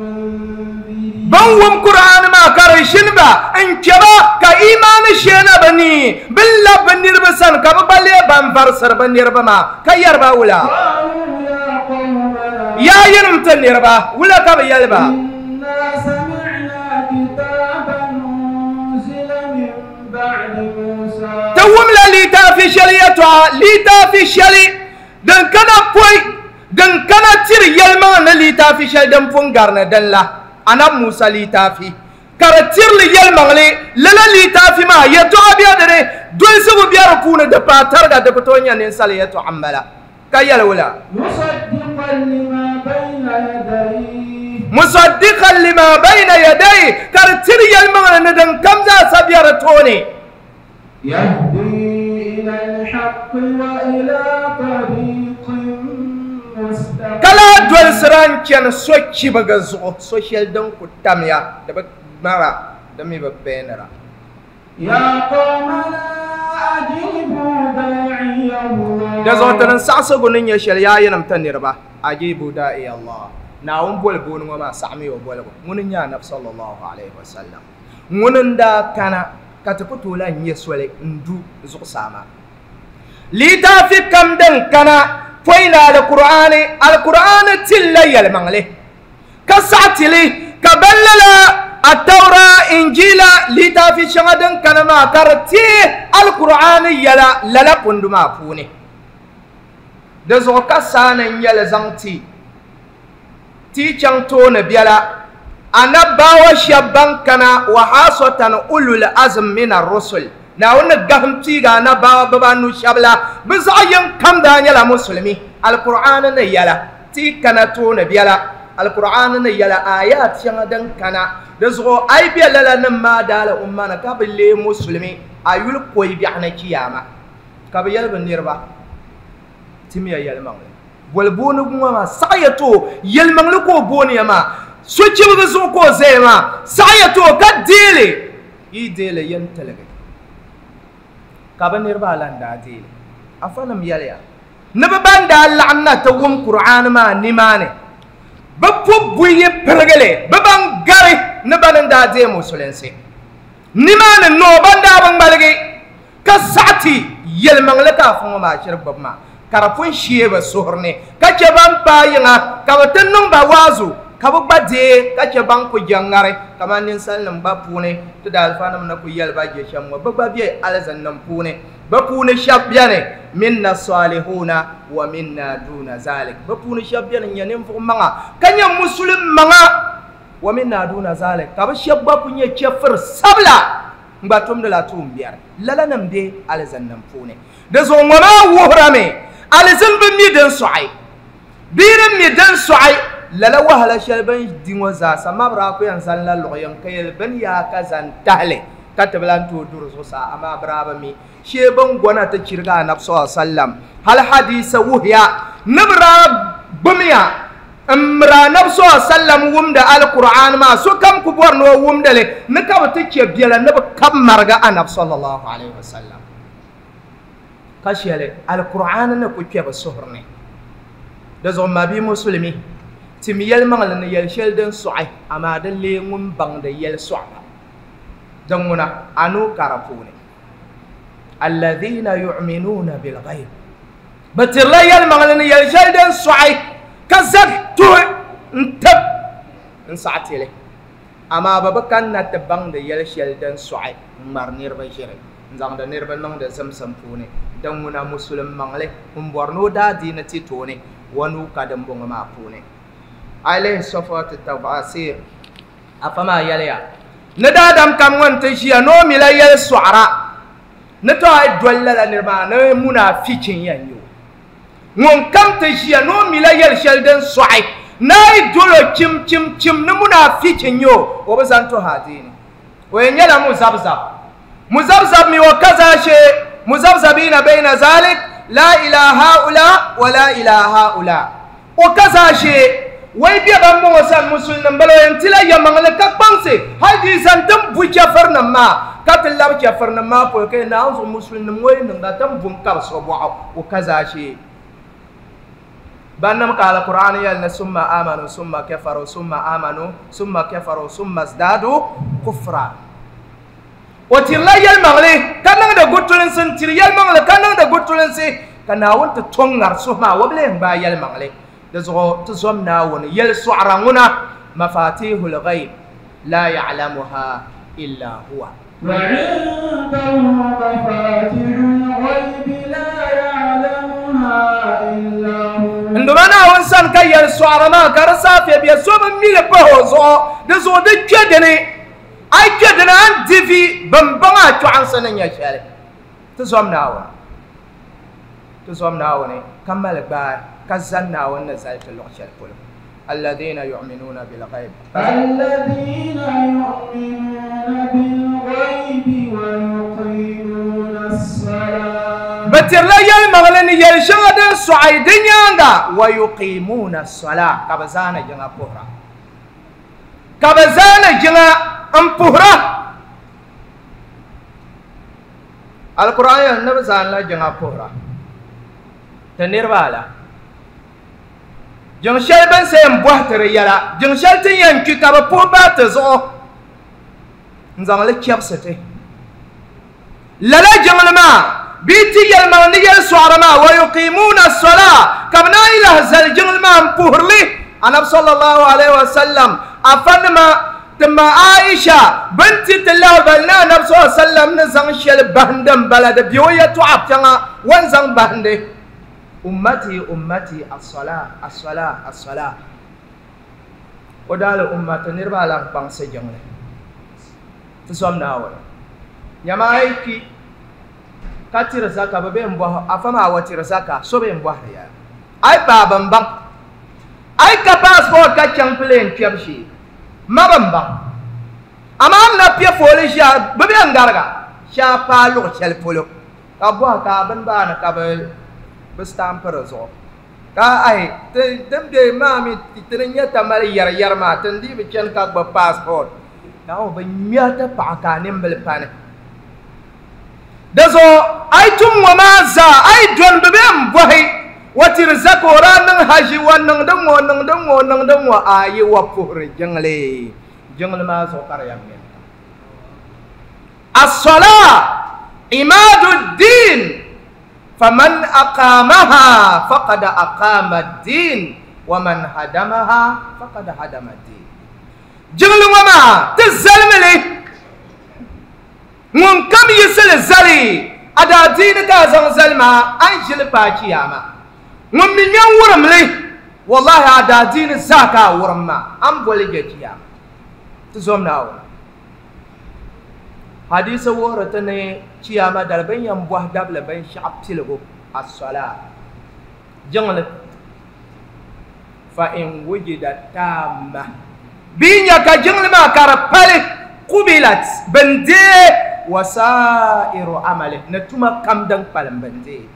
منذرين bin wum Kur'aan maa ka di ʒini ba n kpɛ ba ka imaani sheena bi ni bin labi bi niriba sani ka bi gba lee ban varisiri bi niriba maa ka yɛri ba wula قالوا يا قومنا yaa yinim ti niriba wula ka bi yɛli ba إنا سمعنا كتابا أنزل من بعد موسى ti wumla litaafi shɛli yɛltɔɣa litaafi shɛli din kana pɔi din kana tiri yɛlimaŋ ni litaafi shɛli din pun gari ni din la Annabi Musa litaafi ka di tirili yɛlimaŋli lala litaafi maa yɛltɔɣa bɛ dini dolisigu bɛ di puuni di paai tariga di ku tooi nyɛ ninsali yɛltɔɣa n bala ka yɛli wula مصدقا لما بين يديه musaddiqan lima bayna yadayhi ka di tiri yɛlimaŋli ni din kam zaa sa bɛ di tooni يهدي إلى الحق وإلى طريق مستقيم ka lahi dolisira n chɛni so chibiga zuɣu so shɛli din ku tamya di bi mara di mi bi bɛɛnira. يا قومنا أجيبوا داعي الله. Da zuɣu ti ni saɣasigu ni nyɛ shɛli yaa yinim ti niriba ajibu daa'i Allah. Naawuni boli booni ŋɔ maa saɣami o boligu ŋuni n nyɛ anabi sallallahu alayhi wa sallam ŋuni n daa kana ka ti ku tooi lahi nyɛ soli n du zuɣusaa maa. Litaafi kam din kana pɔi ni alkur'aani alkur'aani tilla yɛlimaŋli ka saɣa tili ka ban lala atawra injila litaafi shɛŋa din kana maa ka di teei alkur'aani yɛla lala kundu maa puuni. Di zuɣu ka saani n nyɛli zaŋ ti ti chaŋ tooni biɛla anabbawa shɛba ban kana wa hasatan ulul azm min ar-rusul Naawuni ni gahim piiga anabbawa bibaanu shɛba la bɛ zaɣ yini kam daa nyɛla musulimi alkur'aani ni yɛla ti kana tooni biɛla alkur'aani ni yɛla ayat shɛŋa din kana di zuɣu a yi be lala nim maa daali umma ni ka bi lee musulimi a yuli koyi biɛɣu ni kiyama ka bi yɛli bi niriba timiya yɛlimaŋli boli booni ŋɔ maa saɣa ya to yɛlimaŋli ka o booni ya maa sochibigi zuɣu ka o zaya maa saɣa ya to ka deeli yi deeli yɛn tiligi ka bi niriba ala n daa deeli afa nim yɛliya ni bi ban daa laɣim na ti wum kur'aani maa nimaani bi pu buyi pirigili bi ban gari ni ban n daa deei musulinsi nimaani noo ban daa bi ŋmaligi ka saɣa ti yɛlimaŋli ka afa ŋɔ maa shiri gbubi maa ka di pun shee bi suhuri ni ka chɛ ban paai yiŋa ka bi ti niŋ ba waazu ka bi gba deei ka chɛ ban ku jɛŋŋari kamani ninsalinima gba puuni ti daalifanima ni ku yɛli ba je shɛm ŋɔ bi gba be alizinnim puuni bi puuni shɛba beni minna salihuna wa minna duna zalik bi puuni shɛba beni n nyɛ ninvuɣu maŋa ka nyɛ musulim maŋa wa minna duna zalik ka bi shɛba gba ku nyɛ chɛfiri sabila n gba tumdila tuumbiɛri lala nim be alizinnim puuni. Di zuɣu ŋɔ maa wuhirami alizin bi mi din sɔɣi bee din mi din sɔɣi lala wahala shɛli bin di ŋɔ zaasa mabira ku yɛn zani la luɣu yini ka yɛli bini yaa ka zani tahali ka ti bi lan tooi duri zuɣusaa amaa bira bi mi shee bin gɔna ti chirigi anabi sallallahu alayhi wa sallam hali hadisa wuhiya ni bira gbumiya n miri anabi sallallahu alayhi wa sallam wumdi alkur'aan maa sokam ku bɔri ni o wumdili ni ka bi ti chɛ biɛla ni bi kabi marigi anabi sallallahu alayhi wa sallam ka shɛli alkur'aan ni ku kpɛ bi suhuri ni. Di zuɣu ma bia musulimi timi yɛlimaŋli ni yɛli shɛli din sɔɣi amaa di lee ŋun baŋdi yɛli sɔɣiba din ŋuna anu ka di puuni alladhina yu'minuna bilghayb bi tirila yɛlimaŋli ni yɛli shɛli din sɔɣi ka zagi tuhi n tib n saɣa tili amaa bi bi kanna ti baŋdi yɛli shɛli din sɔɣi n ŋmari niriba ʒiri n zaŋdi niriba niŋdi zimsim puuni din ŋuna musulim maŋli n bɔri ni o daa diini ti tooni wa nuu ka din bɔŋɔ maa puuni. Alayhi safatu tafasir afa maa yɛliya ni daadam kam ŋun ti ʒiya ni o mi la yɛli sɔɣira ni to a yi doli lala niriba maa ni munaafichi n yɛn nyɛ o ŋun kam ti ʒiya ni o mi la yɛli shɛli din sɔɣi ni a yi doli o chim chim chim ni munaafichi n nyɛ o o bi zani tuhi adiini o yɛn nyɛla muzabzab muzabzab mi o ka zaashee muzabzabina bayna zalik la ila haula wa la ila haula o ka zaashee wai bɛ ban bɔŋɔ san musulinin bala o yɛn tila yɛmaŋli ka kpaŋsi hali di zani tin bu chɛfirinim maa ka ti labi chɛfirinim maa polo ka naawuni zuɣu musulinim ŋɔ yi niŋda tin bu n kabi so bɔɣu o ka zaashee ban nim ka alkur'aan yɛli ni summa amanu summa kafaru summa amanu summa kafaru summa zdadu kufra o tirila yɛlimaŋli ka niŋdi gutulinsi n tiri yɛlimaŋli ka niŋdi gutulinsi ka naawuni ti tɔŋ ŋari suhu maa o bi lee gbaai yɛlimaŋli. Di zuɣu ti zom naawuni yɛli sɔɣira ŋuna mafatihul ghayb la ya'lamuha illa huwa. وعنده مفاتيح الغيب لا يعلمها إلا هو. Nduma naawuni sani ka yɛli sɔɣira maa ka di saafɛ bɛ so bi mi li pahi o zuɣu di zuɣu di kpɛ dini a yi kpɛ dini a ni di vi bin baŋ a chɔɣinsi ni nyɛ shɛli ti zom naawuni ti zom naawuni ka mali gbaai ka zani naawuni ni zali ti luɣu shɛli polo. الذين يؤمنون بالغيب الذين يؤمنون بالغيب ويقيمون الصلاة بتر لا يلمغل ni yɛli shɛŋa din sɔɣi di nyaanga wa yuqimuna as-salaa ka bi zaana jiŋa puhira. Ka bɛ zaani jiŋa n puhira alquran yɛli ni bɛ zaanila jiŋa puhira ti niriba ala jiŋ shɛli bin sa yɛn bɔhi ti di yɛla jiŋ shɛli ti yɛn kpi ka bɛ puhi bahi ti zuɣu n zaŋli chɛbisi ti lala jiŋli maa bee ti yɛlimaŋ ni yɛli sɔɣiri maa wa yuqimuuna as-salaa ka bɛ naan yi lahi zali jiŋli maa n puhirili anabi sallallahu alaihi wasallam afanima ti ma Aisha binti ti lahibali ni anabi sallallahu alaihi wasallam ni zaŋ shɛli bahindi n bala di bɛ o yɛltɔɣa kpɛŋa o ni zaŋ bahindi ummati ummati as-salaa as-salaa as-salaa o daali ummati niriba ala n kpaŋsi jiŋli ti zom Naawuni nyama a yi kpi ka tiri zaka bɛ bɛ n bɔhi afa maa wa tiri zaka so bɛ n bɔhiri ya a yi paai bin baŋ a yi ka passport ka chaŋ plane kpɛbu shee ma bin baŋ amaa n na piɛ fooli ʒiya bɛ bɛ n gariga shɛa paai luɣu shɛli polo ka bɔhi ka a bini baani ka bɛ bɛ stampi di zuɣu ka ai din be maa mi ti ni nyɛ tamali yɛri yɛri maa ti ni dii bi chani ka gbubi passport Naawuni bi ŋmɛhi ti paɣa ka a nimbili pani di zuɣu a yi tum ŋɔ maa zaa a yi dɔni bɛ bɛ n bɔhi wa tiri zaka o daa niŋ haji wa niŋdi ŋɔ niŋdi ŋɔ niŋdi ŋɔ a yi wa puhiri jiŋli jiŋli maa zuɣu ka di yɛn ŋmɛmi as-salaa imaadu ddin faman aqamaha faqad aqama ad-din wa man hadamaha faqad hadama ad-din jiŋli ŋɔ maa ti zalimi li ŋun kam yiɣisili zali a daa diini ka a zaŋ zali maa a ni ʒili paai chiyaama ŋun mi nya wurim li wallahi a daa diini zaa ka a wurim maa a ni boli je chiyaama ti zom Naawuni hadisi wuhiri ti ni chiyaama dali bin yɛn bɔhi dabili binshaɣu piligu as-salaa jiŋli fa in wujida taama bee nya ka jiŋli maa ka di pali qubilat bin deei wa sa'iru amali ni tuma kam din kpalim bin deei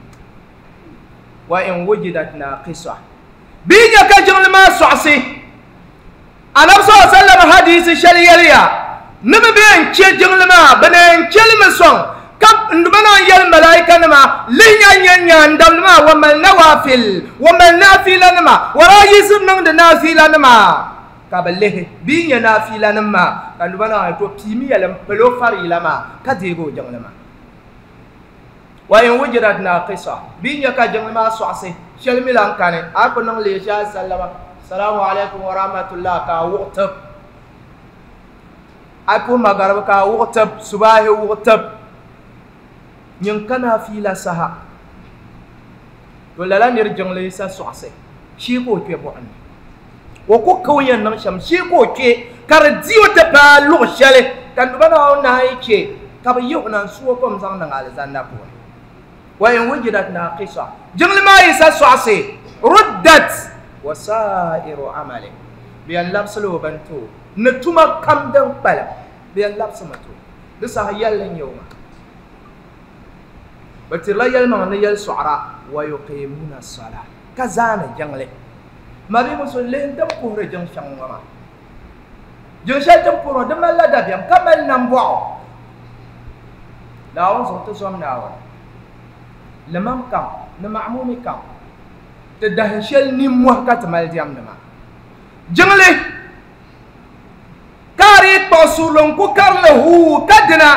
wa in wujidat naqisa bee nya ka jiŋli maa sɔɣisi anabi sallallahu alaihi wasallam hadisi shɛli yɛliya ni bi bɛ n chɛ jiŋli maa bɛ ni n chɛlimi sɔŋ ka bɛ naan yɛli malaika nima lihi nya nya nyaandabili maa wa mali nawafil wa mali naafila nima wa daa yiɣisi niŋdi naafila nima ka bɛ lihi bee nya naafila nim maa ka nuba naan to piimi yɛli n pili o farila maa ka deegi o jiŋli maa wa in wujidat naqisa bee nya ka jiŋli maa sɔɣisi shɛli mi lan kani a ku niŋ leesha sallama salaamu alaikum wa rahmatullah ka a wuɣi tib a puhi magariba ka a wuɣi tib subahi wuɣi tib nyin ka naafila saha to lala niri jiŋli sa sɔɣisi shee ka o kpe buɣim ni o ku ka o yɛn niŋ shɛm shee ka o kpe ka di di o ti paai luɣu shɛli ka nuba naa naan yi chɛ ka bi yihi o na n su o kom zaŋ niŋ alizanda puuni wa in wujidat naqisa jiŋli maa yi sa sɔɣisi ruddat wa sa'iru amali bɛ yɛn labisila o bini ti o ni tuma kam din kpalim bɛ yɛn labisimi ti o di saha yɛlli n nyɛ o maa bɛ tirila yɛlimaŋ ni yɛli sɔɣira wa yuqimuna as-salaa ka zaani jiŋli ma bi musu lihi din puhiri jiŋ shɛŋa ŋɔ maa jiŋ shɛli din puhiri di malila dabiɛm ka mali nambɔɣu Naawuni zuɣu ti zom Naawuni limam kam ni ma'mumi kam ti dahin shɛli nimmɔhi ka ti mali diɛmdi maa jiŋli ka a dii kpuɣi suurili n ku karili huu ka dina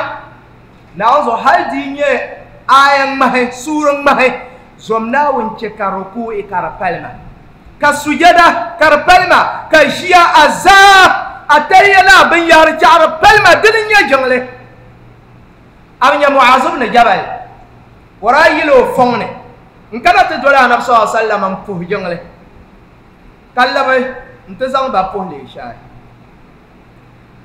Naawuni zuɣu hali di nyɛ aya ŋmahi suuri ŋmahi zom Naawuni chɛ ka ruku'i ka di palima ka sujada ka di palima ka ʒiya a zaa a tahiya ni a binyahari chaɣari palima dini n nyɛ jiŋli a bi nya Mu'az ibn Jabal o daa yili o fɔŋ ni n kana ti doli anabi sallallahu alaihi wasallam n puhi jiŋli ka labi n ti zaŋ ba puhi leeshai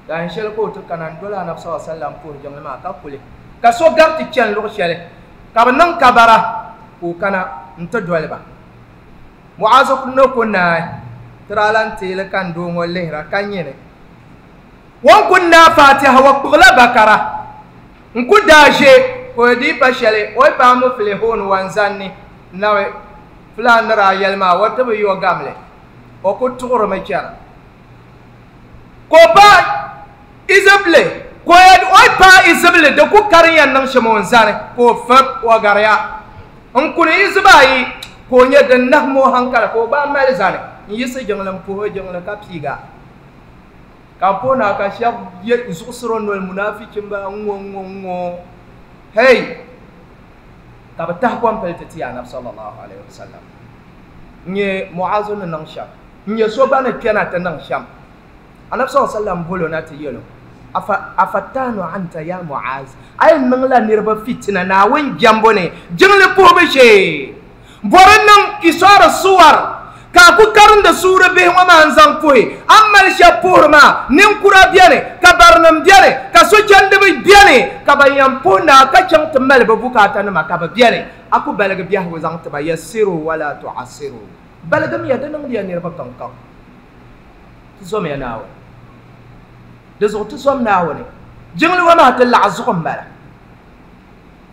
dahin shɛli ka o ti kana n doli anabi sallallahu alaihi wasallam puhi jiŋli maa ka kuli ka so gari ti chani luɣu shɛli ka bi niŋ kabara ka o kana n ti doli ba Mu'az ni ku naai ti daa lan teeli ka n doo ŋɔ lihira ka nyini o ni ku naai Fatiha wa kpuɣila bakara n ku daa ʒe ka o dii pa shɛli o yi paai muflihun wa n zanni nabi fulaan ni daa yɛli maa o ti bi yo gamli o ku tuɣurimi chana Ko pa izibli ko ya oi pa izibli de ku karin yan nan shimon zane ko fab wa gariya n kuni izibayi ko nye din nahmo hankala ko ba mali zane n yisi jiŋli n puhi jiŋli ka piiga ka pona ka shɛb ye zuɣusiro noli munafichi ba ŋo ŋo ŋo hey ka bi tahi kom pili ti ti anabi sallallahu alaihi wasallam nye Mu'azu ni niŋ shɛm nye so gba ni kpɛna ti niŋ shɛm anabi sallallahu alaihi wasallam bolo na ti yɛlo afa afatanu anta ya Mu'az ay niŋla niriba fitina Naawuni jɛmbu ni jiŋli puhibu shee bɔri niŋ kisɔri suwar ka ku karindi suuri bihi ŋɔ maa n zaŋ puhi an mali shɛba puhiri maa ninkura beni ka barinima beni ka sochandiba beni ka ban yɛn puhi naa ka chaŋ ti mali bi bukaata nima ka bi beni a ku baligi biɛhigu zaŋ tiba yassiru wala tu'assiru baligimiya di niŋdiya niriba kankaŋ ti zomiya Naawuni di zuɣu ti zom Naawuni jiŋli ŋɔ maa ti laɣa zuɣu n bala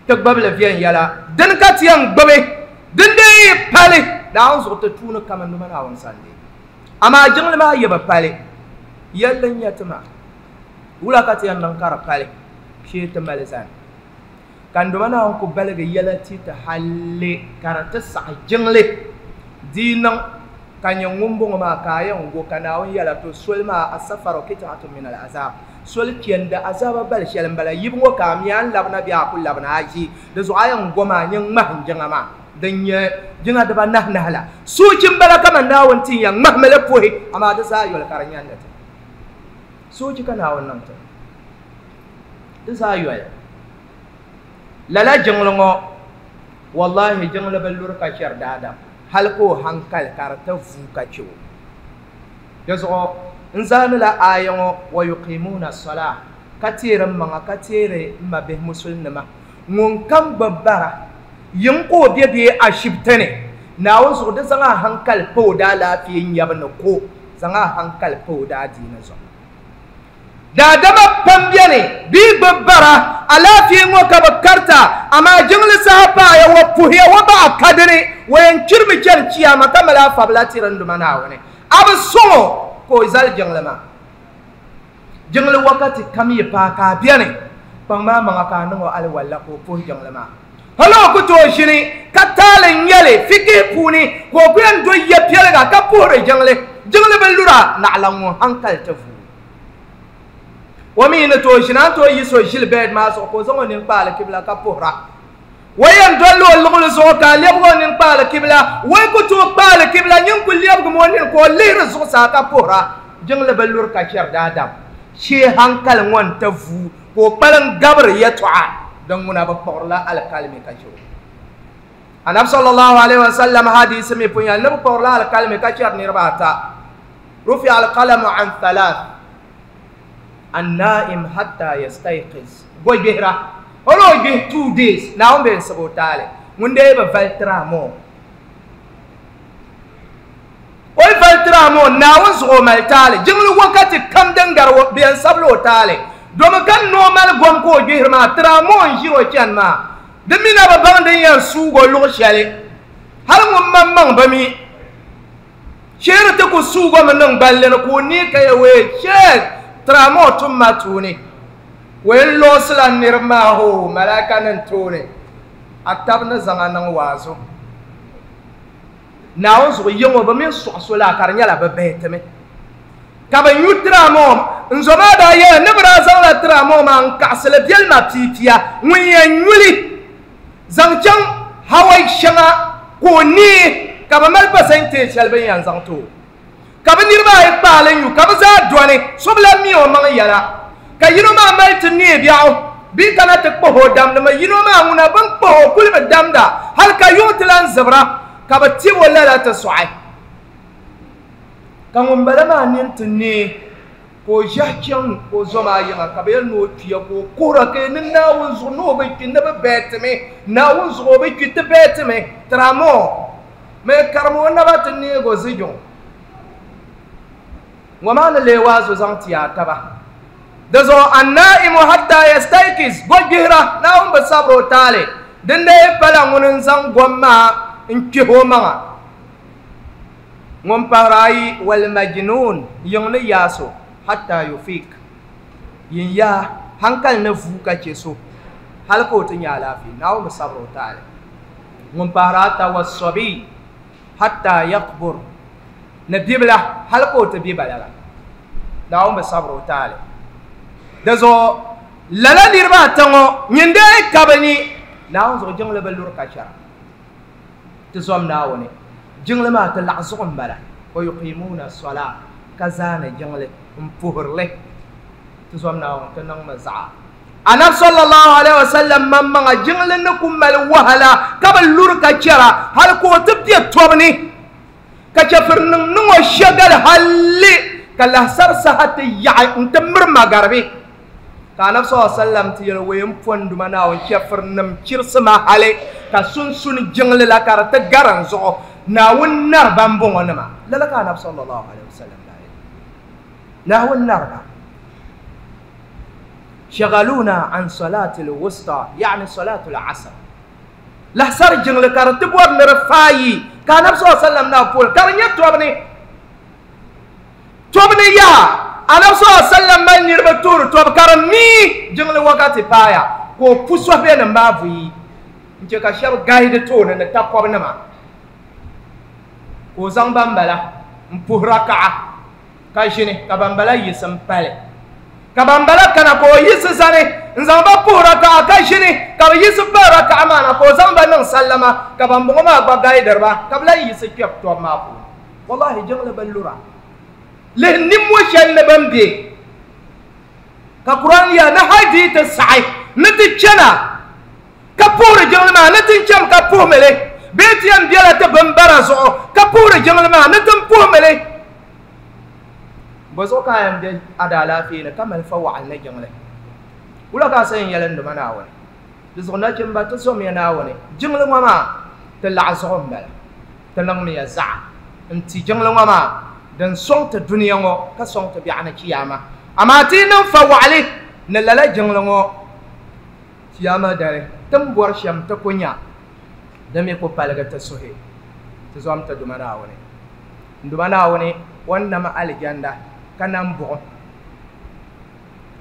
ti gbubili viɛnyɛla dini ka ti yɛn gbubi din dee yi pali Naawuni zuɣu ti tuuni kaman nima Naawuni sandi amaa jiŋli maa yi bi pali yɛlli n nyɛ ti maa wula ka ti yɛn niŋ ka di pali shee ti mali zani ka n doma Naawuni ku baligi yɛla ti ti halli ka di ti saɣi jiŋli di niŋ ka nyɛ ŋun bɔŋɔ maa ka a yɛn go ka Naawuni yɛla to soli maa asafaro qit'atun min al-azab soli chɛndi azaba bali shɛli n bala yibu ŋɔ ka a mi a ni labina bee a ku labina a ʒi di zuɣu a yɛn go maa nyɛ ŋmahim jiŋa maa din nyɛ jiŋa dibanahi nahi la soochi n bala kaman Naawuni ti yɛn ŋmahimi li puhi amaa di zaa yoli ka di nyɛndi ti soochi ka Naawuni niŋ ti di zaa yoli lala jiŋli ŋɔ wallahi jiŋli bi luri ka chɛri daadam hali ka o hankali ka di ti vuu ka chɛ o di zuɣu n zaanila aaya ŋɔ wa yuqimuna as-salah ka teeri n maŋa ka teeri n ma bihi musulinima ŋun kam gbubi bara yiŋ ka o be bee ashibiti ni Naawuni zuɣu di zaŋ a hankali pa o daalaafee nyabu ni ko zaŋ a hankali pa o daadiini zuɣu daadama pam beni bee gbubi bara alaafee ŋɔ ka bi karita amaa jiŋli saha paaya wa puhiya wa baɣa kadini wa yɛn chirimi chɛni chiyama ka mali afabila tiri n duma Naawuni a bi sɔŋɔ ka o zali jiŋli maa jiŋli wakati kam yi paai ka a beni kpaŋ maa maŋa ka a niŋ o aliwalla ka o puhi jiŋli maa hali o ku tooi ʒini ka taali n nyɛli fikihi puuni ka o ku yɛn do ya piɛliga ka puhiri jiŋli jiŋli bi lura naɣala ŋun hankali ti vuu o mi ni tooi ʒini a ni tooi yi so ʒili bɛd maa zuɣu ka o zaŋ o nini kpaali kibila ka puhira o yɛn dolli o luɣuli zuɣu ka a lɛbigi o nini kpaali kibila o yi ku tooi kpaali kibila nyin ku lɛbigimi o nini ka o lihiri zuɣusaa ka puhira jiŋli bi luri ka chɛri daadam shee hankali ŋɔ n ti vuu ka o kpalim gabiri yɛltɔɣa din ŋuna bi kpuɣirila alikalimi ka chɛ o anabi sallallahu alaihi wasallam hadisi mi pun yɛli ni bi kpuɣirila alikalimi ka chɛri niriba ata rufi alqalamu an thalath النائم حتى يستيقظ goy gbihira o ni o gbihi two days Naawuni bɛ n sabi o taali ŋun dee bi vali tira moo o yi vali tira moo Naawuni zuɣu o mali taali jiŋli wakati kam din gari bi yɛn sabila o taali domi ka noo mali gom ka o gbihiri maa tira moo n ʒiri o chɛni maa di mi na bi baŋ din yɛn suugi o luɣu shɛli hali ŋun maŋmaŋ bi mi sheeri ti ku suugi o mi niŋ gballi ni ka o nee ka yɛ wee sheek tira moo tum ma tuuni wen loosila niriba maa ho malaika nin tooni a tabi ni zaŋ a niŋ waazu Naawuni zuɣu yiŋɔ bi mini sɔɣi so la ka di nyɛla bi bahi timi ka bi nyu tira moo n zo maa daa yɛla ni bi daa zaŋla tira moo maa n kaɣasili biɛlima piipiya ŋun yɛn nyuli zaŋ chaŋ hawai shɛŋa ka o nee ka bi mali pasɛnteej shɛli bin yɛn zaŋ ti o ka bi niriba ayi kpaali nyu ka bi zaa dɔni so bi lahi mi o maŋ yɛla ka yino maa mali ti nee biɛɣu bee kana ti kpahi o damdimi yino maa ŋuna bin kpahi o kuli bi damda hali ka yuŋ ti lan zibira ka bi tibi o lala ti sɔɣi ka ŋun bala maa nini ti nee ka o ʒɛhi chaŋ o zo maa yiŋa ka bi yɛli ni o kpiya ka o kuhira ka ni Naawuni zuɣu ni o bi kpi ni bi bɛɛtimi Naawuni zuɣu o bi kpi ti bɛɛtimi tiramoo mɛ karimi o naba ti neegi o zijuŋ ŋɔ maa ni lee waazu zaŋ ti a taba di zuɣu annaimu hatta yastaykiz go gbihira Naawuni bi sabiri o taali din dee pala ŋuni n zaŋ gom maa n kpihi o maŋa ŋun pahiri ayi walmajnun yiŋ ni yaaso hatta yufik yin ya hankali ni vuuka che so hali ka o ti nya alaafee Naawuni bi sabiri o taali ŋun pahari ata wasabi hatta yakbur ni bibila hali ka o ti be balaga Naawuni bi sabiri o taali di zuɣu lala niriba ata ŋɔ nyin dee ka bi ni Naawuni zuɣu jiŋli bi luri ka chɛra ti zom Naawuni jiŋli maa ti laɣa zuɣu n bala wa yuqimuna sola ka zaani jiŋli n puhirili ti zom Naawuni ti niŋmi zaɣa Annabi sallallahu alaihi wasallam mammaŋa jiŋli ni ku mali wahala ka bi luri ka chɛra hali ka o ti bɛ tɔbu ni ka chɛfiri niŋ niŋ o shɛgali halli ka lahisari saha ti yaɣi n ti miri magaribi ka Annabi sallallahu alaihi wasallam ti yɛli o yɛn pɔnduma Naawuni chɛfiri nim chirisi ma hali ka sunsuni jiŋli la ka di ti gari n zuɣu Naawuni nariba n bɔŋɔ nima lala ka Annabi sallallahu alaihi wasallam daa yɛli Naawuni nariba shagaluna an salati alwusta yani salatu alasr lahisari jiŋli ka di ti bɔri ni di faayi ka Annabi sallallahu alaihi wasallam naa puhiri ka di nyɛ tɔbu ni tɔbu ni yaha Annabi sallallahu alaihi wasallam mali niriba tuuri tɔbu ka di mii jiŋli wakati paaya ka o pu sɔhibɛ nim maa buyi n chɛ ka shɛba gahi di tooni ni takɔbi nima ka o zaŋ ban bala n puhi rakaɣa ka ʒini ka ban bala yiɣisi n pali ka ban bala kana ka o yiɣisi zani n zaŋ ba puhi rakaɣa ka ʒini ka bi yiɣisi pali rakaɣa maa na ka o zaŋ ba niŋ sallama ka ban bɔŋɔ maa gba gaidiriba ka bi lahi yiɣisi kpɛbi tɔbu maa puuni wallahi jiŋli bi lura lihi nimmo shɛli ni bin bɛ ka Kur'an ya ni hali di ti saɣi ni ti chɛna ka puhiri jiŋli maa ni ti chɛm ka puhimili bee ti yɛn bɛla ti binbara zuɣu ka puhiri jiŋli maa ni ti puhimili bɔ zuɣu ka a yɛn bɛ a daalaafee ni ka mali fa waɣali ni jiŋli wula ka a sa yɛn yɛli n duma Naawuni di zuɣu nachimba ti zomiya Naawuni jiŋli ŋɔ maa ti laɣa zuɣu n bala ti niŋmiya zaɣa n ti jiŋli ŋɔ maa din sɔŋ ti duniya ŋɔ ka sɔŋ ti biɛɣu ni chiyaama amaa ti niŋ fa waɣali ni lala jiŋli ŋɔ chiyaama dali ti ni bɔri shɛm ti ku nya di mi ku paligi ti suhi ti zom ti duma Naawuni n duma Naawuni o ni nam alijanda ka nam buɣum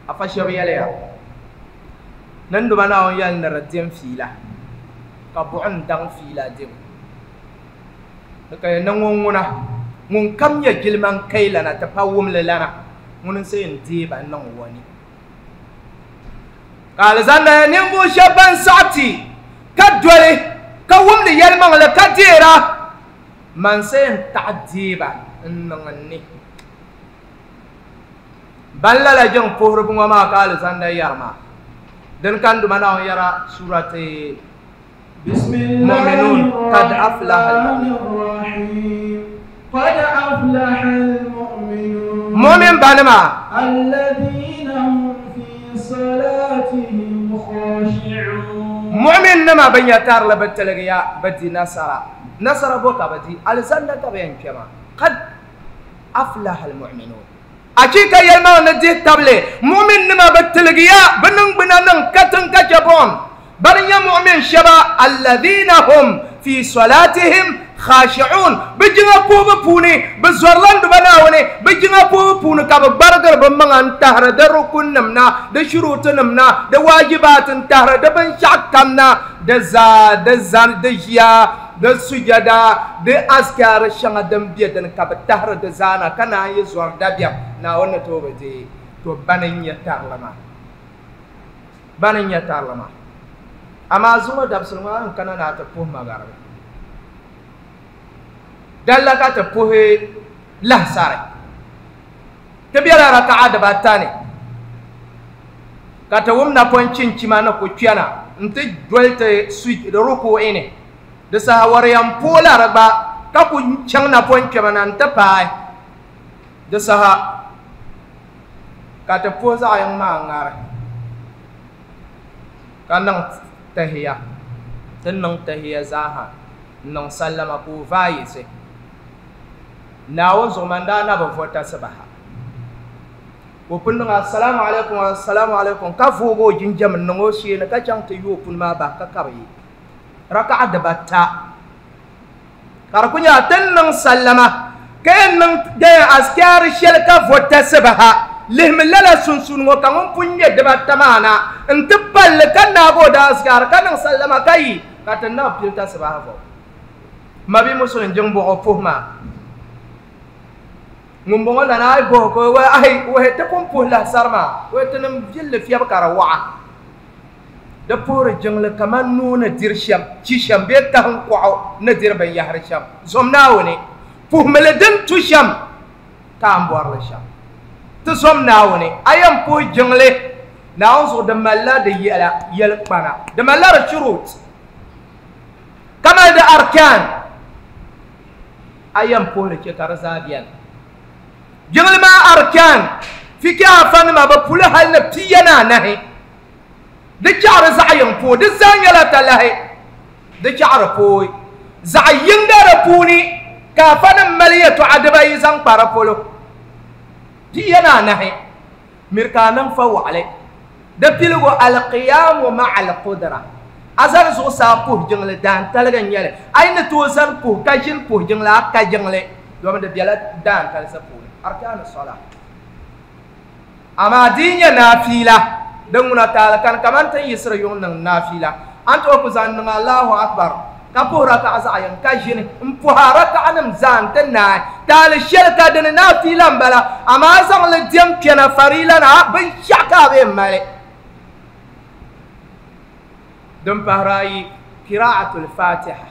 afa shɛba yɛliya ni n duma Naawuni yɛli ni di dim fiila ka buɣum daŋ fiila dibu di ka yɛn ni ŋun ŋuna ŋun kam nyɛ jilima n kai lana ti pa wumli lana ŋuni n sa yɛn deei ba n niŋ o ni ka alizanda ninvuɣu shɛba ban saɣi ti ka doli ka wumdi yɛlimaŋli ka deera man sa yɛn taɣi deei ba n niŋ n ni ban lala jiŋ puhiribu ŋɔ maa ka alizanda yɛri maa din ka n duma Naawuni yɛra surati Mu'minun qad aflaha al-mu'minun قد أفلح المؤمنون مؤمن بانما الذين هم في صلاتهم خاشعون مؤمن نما بن يتار لبتلغيا بدي نصر نصر بوكا بدي الزندا كبين كما قد أفلح المؤمنون أكيد يلما ندي تبلي مؤمن نما بتلغيا بنن بنن كتن كجبون برنيا مؤمن شبا الذين هم في صلاتهم خاشعون بجنا بوب بوني بزورلاند بناوني بجنا بوب بوني كاب برجر بمعان تهر دركون نمنا دشروط نمنا دواجبات تهر دبنشاك كمنا دزا دزان دجيا دسجدا دأذكار شعنا دم بيدن كاب تهر دزانا كنا يزور دبيا ناونا توبة دي توبانين يتارلما بانين يتارلما أما زوما دبسلما كنا ناتبوه مغاربي dalla ka ti puhi lahisari ti bela raka'a dibaata ni ka ti wum napɔŋ chinchima ni ku kpɛna n ti doli ti su ruku'i ni di saha wariyan poola di gba ka ku chaŋ napɔŋ kpɛma na n ti paai di saha ka ti puhi zaɣ yiŋ maa ŋari ka niŋ tahiya ti niŋ tahiya zaaha n niŋ sallama ka o vaai yiɣisi Naawuni zuɣu man daa na bi vota sibaha ka o pun niŋ assalamu alaikum assalamu alaikum ka voogi o jinjam n niŋ o sheeni ka chaŋ ti yooi puni maa bahi ka kabi yi raka'a dibaata ka di ku nyɛla ti ni niŋ sallama ka yɛn niŋ askari shɛli ka vota sibaha Lihimi lala sunsuuni ŋɔ ka ŋun pun ŋmɛ dibata maa na n ti palli ka naagi o daazikaari ka niŋ sallama ka yi ka ti na pili tasibaha vɔ mabi musulin jiŋ bɔɣɔ puhi maa ŋun bɔŋɔ lana a yi bɔhi ko ayi wahi ti pun puhi lahisari maa wahi ti niŋ villi fiɛbi ka di waɣa di puhiri jiŋli kaman nuu ni diri shɛm chi shɛm bee kahim kɔɣu ni diri binyahari shɛm zom Naawuni puhimili din tu shɛm ka an bɔrili shɛm ti zom Naawuni a yɛn puhi jiŋli Naawuni zuɣu di malila di yɛla yɛlikpana di malila di shurut ka mali di arkan a yɛn puhili chɛ ka di zaa bɛni jiŋli maa arkan fiki afanima bi puli hali ni pia ni anahi di chaɣari zaɣ yiŋ pooi di zaa nyɛla talahi di chaɣari pooi zaɣ yinga di puuni ka afanim mali yɛltɔɣa dibayi zaŋ kpa di polo pia ni anahi miri ka a niŋ fa waɣali di piligu alqiyamu ma'a alqudra a zani zuɣusaa puhi jiŋli daantaligi n nyɛli a yi ni tooi zani puhi ka ʒini puhi jiŋli a ka jiŋli domi di bela daantalisi puuni arkanu sola amaa di yi nyɛ naafiila din ŋuna taali kani kaman tin yiɣisiri yuŋ niŋ naafiila an tooi ku zaŋ niŋ Allahu akbar ka puhi rakaɣa zaɣ yini ka ʒini n puhi a rakaɣanim zaa n ti naai taali shɛli ka dini naafiila n bala amaa a zaŋli diɛm kpɛna fariila na binshaɣu ka a bee mali din pahiri ayi qira'atul fatiha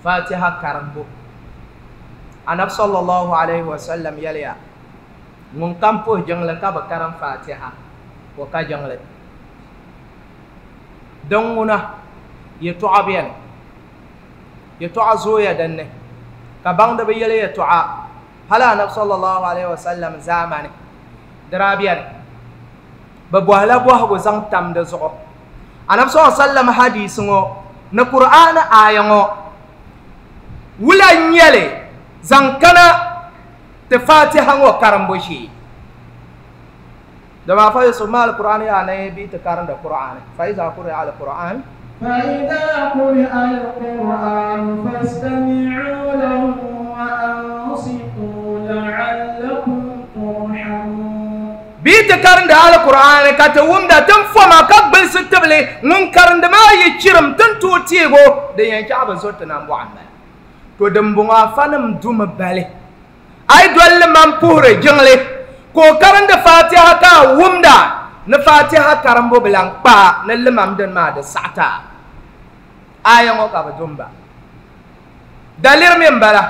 fatiha karimbu anabi sallallahu alayhi wa sallam yɛliya ŋun kam puhi jiŋli ka bi karim fatiha o ka jiŋli din ŋuna yɛltɔɣa bɛni yɛltɔɣa zooya dinni ka baŋdi bi yɛli yɛltɔɣa hali anabi sallallahu alayhi wa sallam zaamani di daa bɛni bi bɔhila bɔhigu zaŋ tam di zuɣu anabi sallallahu alayhi wa sallam hadisi ŋɔ ni Qur'an aaya ŋɔ wula n nyɛli zaŋ kana ti fatiha ŋɔ karimbu shee dama fa Yusuf ma al-Qur'an ya na bi ti karinda Qur'an fa iza quri'a al-Qur'an فإذا قرئ القرآن فاستمعوا له وأنصتوا لعلكم ترحمون bi ti karinda al-Qur'an ka ti wumda tin foma ka gbilisi tibili ŋun karindi maa yi chirim tin tooi teego din yɛn chaɣ bi zo ti nambɔɣu m-bala to dimbɔŋɔ afanim dumi bali a yi dolli man puhiri jiŋli ka o karindi fatiha ka a wumda ni fatiha karimbu bi lan kpaa ni limam dini maa di saɣata aya ŋɔ ka bi dumba daliri mi n bala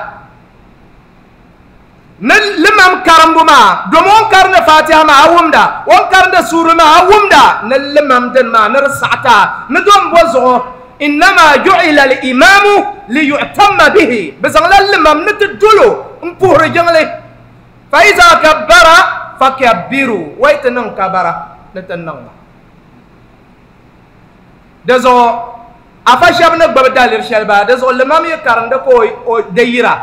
ni limam karimbu maa domi o ni karindi fatiha maa a wumda o ni karindi suuri maa a wumda ni limam dini maa ni di saɣata ni dom bo zuɣu innama ju'ila al-imamu liyu'tamma bihi bi zaŋla limam ni ti dolo n puhiri jiŋli fa iza kabbara fakabbiru wai ti niŋ kabara ni ti niŋ ba di zuɣu afa shɛba ni gbubi daliri shɛli baa di zuɣu limam yi karindi ka o di yira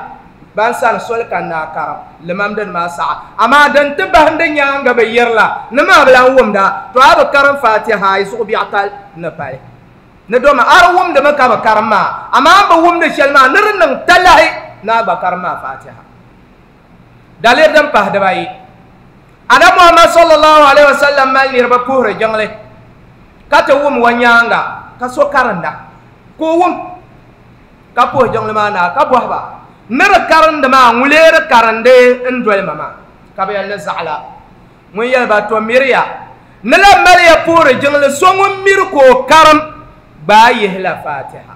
ban sani soli ka naa karim limam dini maa saɣa amaa din ti bahindi nyaanga bi yirila ni maa bi lan wumda to a bi karim fatiha a yi zuɣu biɛɣu tali ni pali ni doma a di wumdimi ka bi karim maa amaa bi wumdi shɛli maa ni di niŋ talahi ni a gba karim maa fatiha daliri din pahi dibayi anabi Muhammad sallallahu alaihi wasallam mali niriba puhiri jiŋli ka ti wum wa nyaanga ka so karinda ka o wum ka puhi jiŋli maa naa ka bɔhi ba ni di karindi maa ŋun lee di karindi n doli ma maa ka bi yɛli ni zaɣala ŋun yɛli ba to miriya ni la maliya puhiri jiŋli so ŋun miri ka o karim gbaa yihila fatiha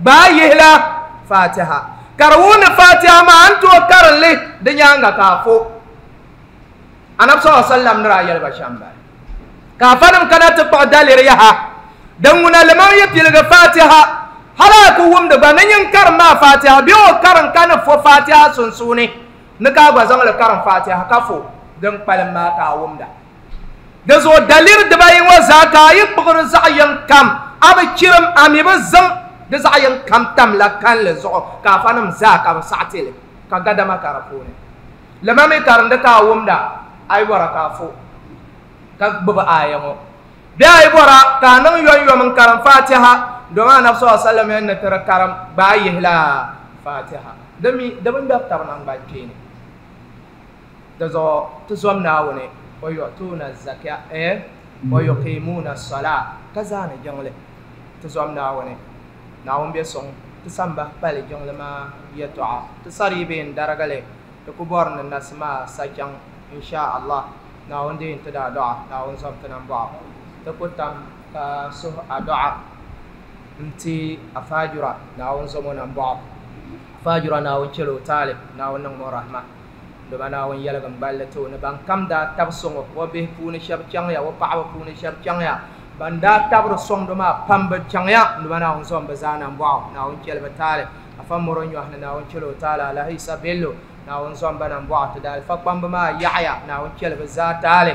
gbaa yihila fatiha ka di wuhi ni fatiha maa n tooi karinli di nyaanga ka a fo anabi sallallahu alaihi wasallam ni daa yɛli ba shɛm bala ka afanim kana ti kpuɣi daliri yaha din ŋuna limam yi piligi fatiha hali a ku wumdi gba ni nyin karim maa fatiha bee o karim ka ni fo fatiha sunsuuni ni ka a gba zaŋli karim fatiha ka fo din kpalim maa ka a wumda di zuɣu daliri dibayi ŋɔ zaa ka a yi kpuɣiri zaɣ yini kam a bi chirim a mi bi zaŋ di zaɣ yini kam tamla kanli zuɣu ka afanim zaa ka bi saɣa tili ka gadama ka di puuni limam yi karindi ka a wumda a yi bɔra ka a fo ka gbubi aaya ŋɔ bee a yi bɔra ka a niŋ yomyom n karim fatiha domi anabi sallallahu alaihi wasallam yɛn ni ti di karim gbaa yihila fatiha di mi di bi ŋmɛri tabi naŋgban kpeeni Da zuɣu ti zom Naawuni wa yu'tuna zaka eh wa yuqimuna as-salah ka zaani jiŋli ti zom Naawuni Naawuni be sɔŋ ti samba pali jiŋli maa yɛltɔɣa ti sari be n darigili ti ku bɔri ni nasi maa sa chaŋ insha Allah Naawuni deei ti daa dɔɣa Naawuni zom ti nambɔɣu ti ku tam ka suhu adɔɣa n-ti afaajura Naawuni zom o nambɔɣu afaajura Naawuni chɛla o taali Naawuni niŋ mo rahma doma Naawuni yɛligim gballi ti o ni ban kam daa tabi sɔŋɔ o bihi puuni shɛba chaŋya o paɣaba puuni shɛba chaŋya ban daa tabiri sɔŋdi maa pam bi chaŋya doma Naawuni zom bi zaa nambɔɣu Naawuni chɛli bi taali afa mɔro nyɔhi ni Naawuni chɛla o taali Alahi Isa Bello Naawuni zom ba nambɔɣu ti daalifa kpamba maa yaɣaya Naawuni chɛli bi zaa taali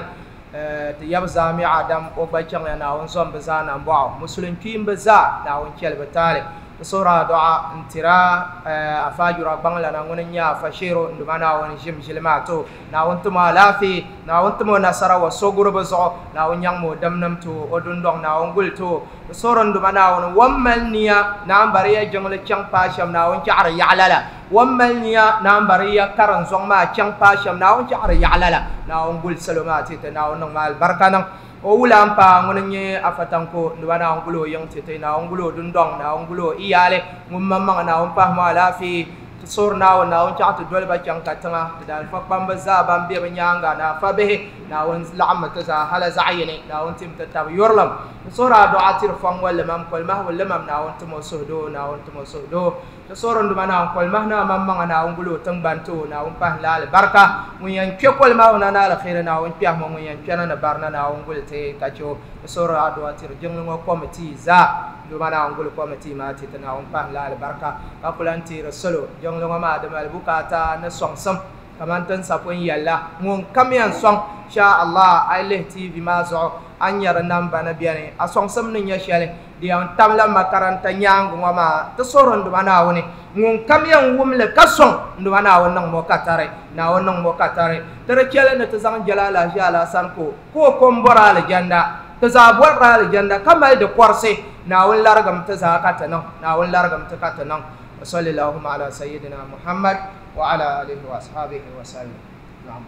ti yab zaami Adam o gba chaŋya Naawuni zom bi zaa nambɔɣu musulin kpiimbi zaa Naawuni chɛli bi taali sura du'a ntira afaajura gbaŋlana ŋuni n-nyɛ afa sheero nduma Naawuni ʒim ʒili maa to Naawuni timo alaafee Naawuni timo nasara wa soguribu zuɣu Naawuni nyaŋmi o dimnim to o dundɔŋ Naawuni guli to sora nduma Naawuni wan mali niya naan bari ya jiŋli chaŋ paai shɛm Naawuni chaɣari yaɣa lala wan mali niya naan bari ya karin zɔŋ maa chaŋ paai shɛm Naawuni chaɣari yaɣa lala Naawuni guli salo maa ti ti Naawuni niŋ ma alibarika niŋ o wula n paa ŋuni n-nyɛ afatanko nduba Naawuni guli o yiŋ ti ti Naawuni guli o dundɔŋ Naawuni guli o iyaali ŋun maŋmaŋa Naawuni pahi mo alaafee ti soori Naawuni Naawuni chaɣ ti doli ba chaŋ ka tiŋa ti daalifa kpamba zaa ban be bi nyaanga ni afa bihi Naawuni laɣimmi ti zaa hala zaɣ yini Naawuni tim ti tabi yurilim ti soori adɔɣa tiri fɔŋ ŋɔ limam kolimahibu limam Naawuni timo suhudoo Naawuni timo suhudoo ti soori nduma Naawuni kolimahi naa maŋmaŋa Naawuni guli o tiŋgbani ti o Naawuni pahi la alibarika ŋun yɛn kpe kolimahibu na ni aliheri Naawuni kpɛhi mo ŋun yɛn kpɛna ni barina Naawuni guli ti ka che o ti soori adɔɣa tiri jiŋli ŋɔ kɔmitii zaa nduma Naawuni guli kɔmitii maa ti ti Naawuni pahi la alibarika ka ku lan teeri salo jiŋli ŋɔ maa di mali bukaata ni sɔŋsim kaman tin sapun yɛlla ŋun kam yɛn sɔŋ sha Allah a yi lihi T V maa zuɣu a ni nyɛ di namba ni beni a sɔŋsim ni nyɛ shɛli di yɛn tamla makaranta nyaangi ŋɔ maa ti soori nduma Naawuni ŋun kam yɛn wumli ka sɔŋ nduma Naawuni niŋ mo katari Naawuni niŋ mo katari ti di chɛli ni ti zaŋ jɛla alahiʒi alaasani ko ka o ko m-bɔri alijanda ti zaa bɔrila alijanda ka mali di kɔrisi Naawuni larigim ti zaa ka ti niŋ Naawuni larigim ti ka ti niŋ wa salli allahumma ala sayyidina Muhammad wa ala alihi wa ashabihi wa sallam. Naam.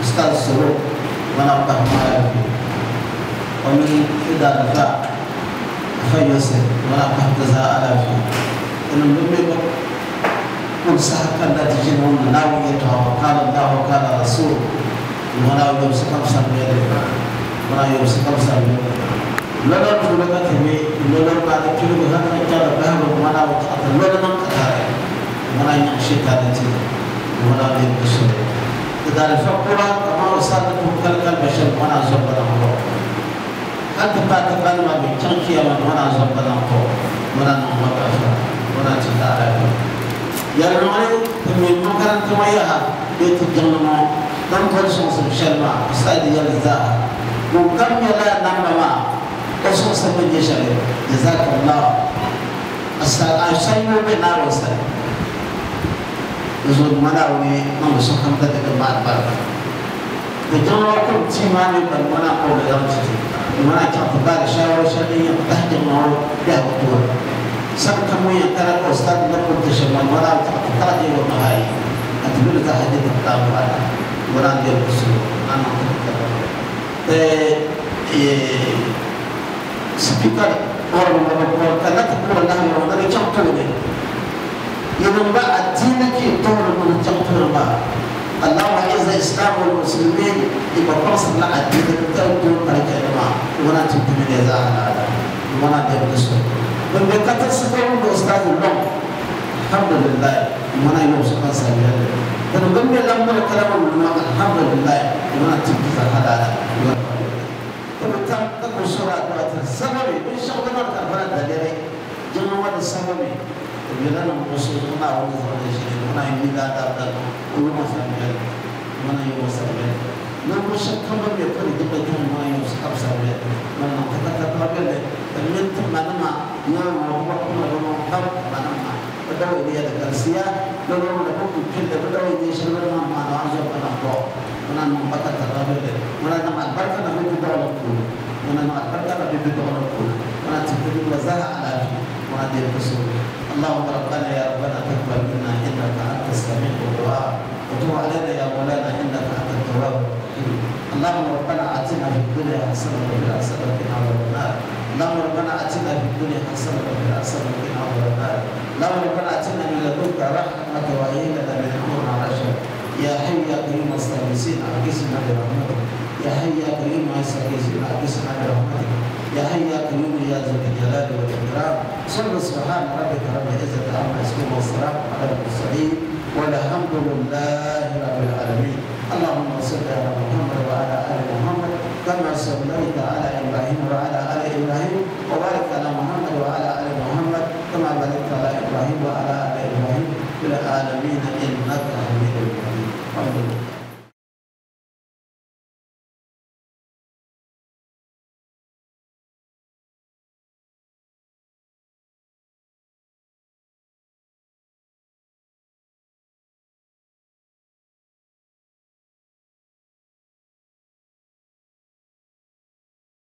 Ustaz Suru wana pahmala ومن إذا دفع فيوسف ولا تهتزا على فيه إن لم كل ساعة لا تجدون ناويتها وقال الله وقال رسول ولا يمسك سمير ولا يمسك سمير لولا تولد تبي لولا بعد كل هذا كان بهم ولا وقت لولا من قتال ولا يمشي تاتي ولا يمشي إذا الفقراء كما وصلت كل البشر ولا زبد الله حتى بعد بعد ما بيتشكي من ولا زبد الله ولا نعمة ولا تدار يا رجال من مكان تميها بيت الجنة دم كل شخص بشرما أستاذ يلزا وكم يلا نعمة وشخص من يشرب جزاك الله أستاذ أشياء بنا وصل يزود منا وني ما وصل كم تدك بعد بعد الجنة كم تيماني بالمنا قول يوم منا كم بعد شهر شهرين تحت المعروف ده وطول سبت مية ترى أستاذ نقول تشمل ولا تحتاج وما هاي أتقول تحديد الكتاب ولا ولا دير بسوا أنا أتكلم سبيكر أور ولا كلا تقول الله ولا تشوفونه يوم بعد الدين كي تطور من تشوفونه ما اللهم أعز الإسلام والمسلمين يبقى فرصة لا الدين تطور طريقة ما ولا تبتمن يا زعل ولا دير بسوا من بكتر سكون الأستاذ اللهم الحمد لله وأنا يوم سكان سامي من ضمن الأمر كلام الحمد لله وأنا تبكي هذا تبتم تقول سورة السبب من شغل ما تعرفون دليل جمع السبب يلانا مقصودنا ونزل الشيء وأنا يميل هذا وما سامي وأنا يوم سامي نحن شكل ما يكون يجب أن ما يوم سامي وأنا تكتب من تمنما يوم هو كل يوم قام منما بدو إلي الكرسية لو لو لو كل بدو إلي شغل ما ما نعزو أنا هو أنا نبغى ترابل أنا نما البركة نبي بدو نقول أنا نما البركة نبي بدو نقول أنا تبتدي وزارة على وأنا دير بسول اللهم ربنا يا ربنا تقبل منا إنك أنت السميع الدعاء وتب علينا. اللهم ربنا آتنا في الدنيا حسنة وفي الآخرة وقنا عذاب النار. اللهم ربنا آتنا في الدنيا حسنة وفي الآخرة وقنا عذاب النار. اللهم ربنا آتنا من لدنك رحمة وهيئ لنا من أمرنا رشدا. يا حي يا قيوم استغيثنا أغثنا برحمتك. يا حي يا قيوم استغيثنا أغثنا برحمتك. يا حي يا قيوم يا ذا الجلال والإكرام. صل سبحان ربك رب العزة عما يصفون والسلام على المرسلين والحمد لله رب العالمين. اللهم صل على محمد وعلى آل محمد كما صليت على إبراهيم وعلى آل إبراهيم وبارك على محمد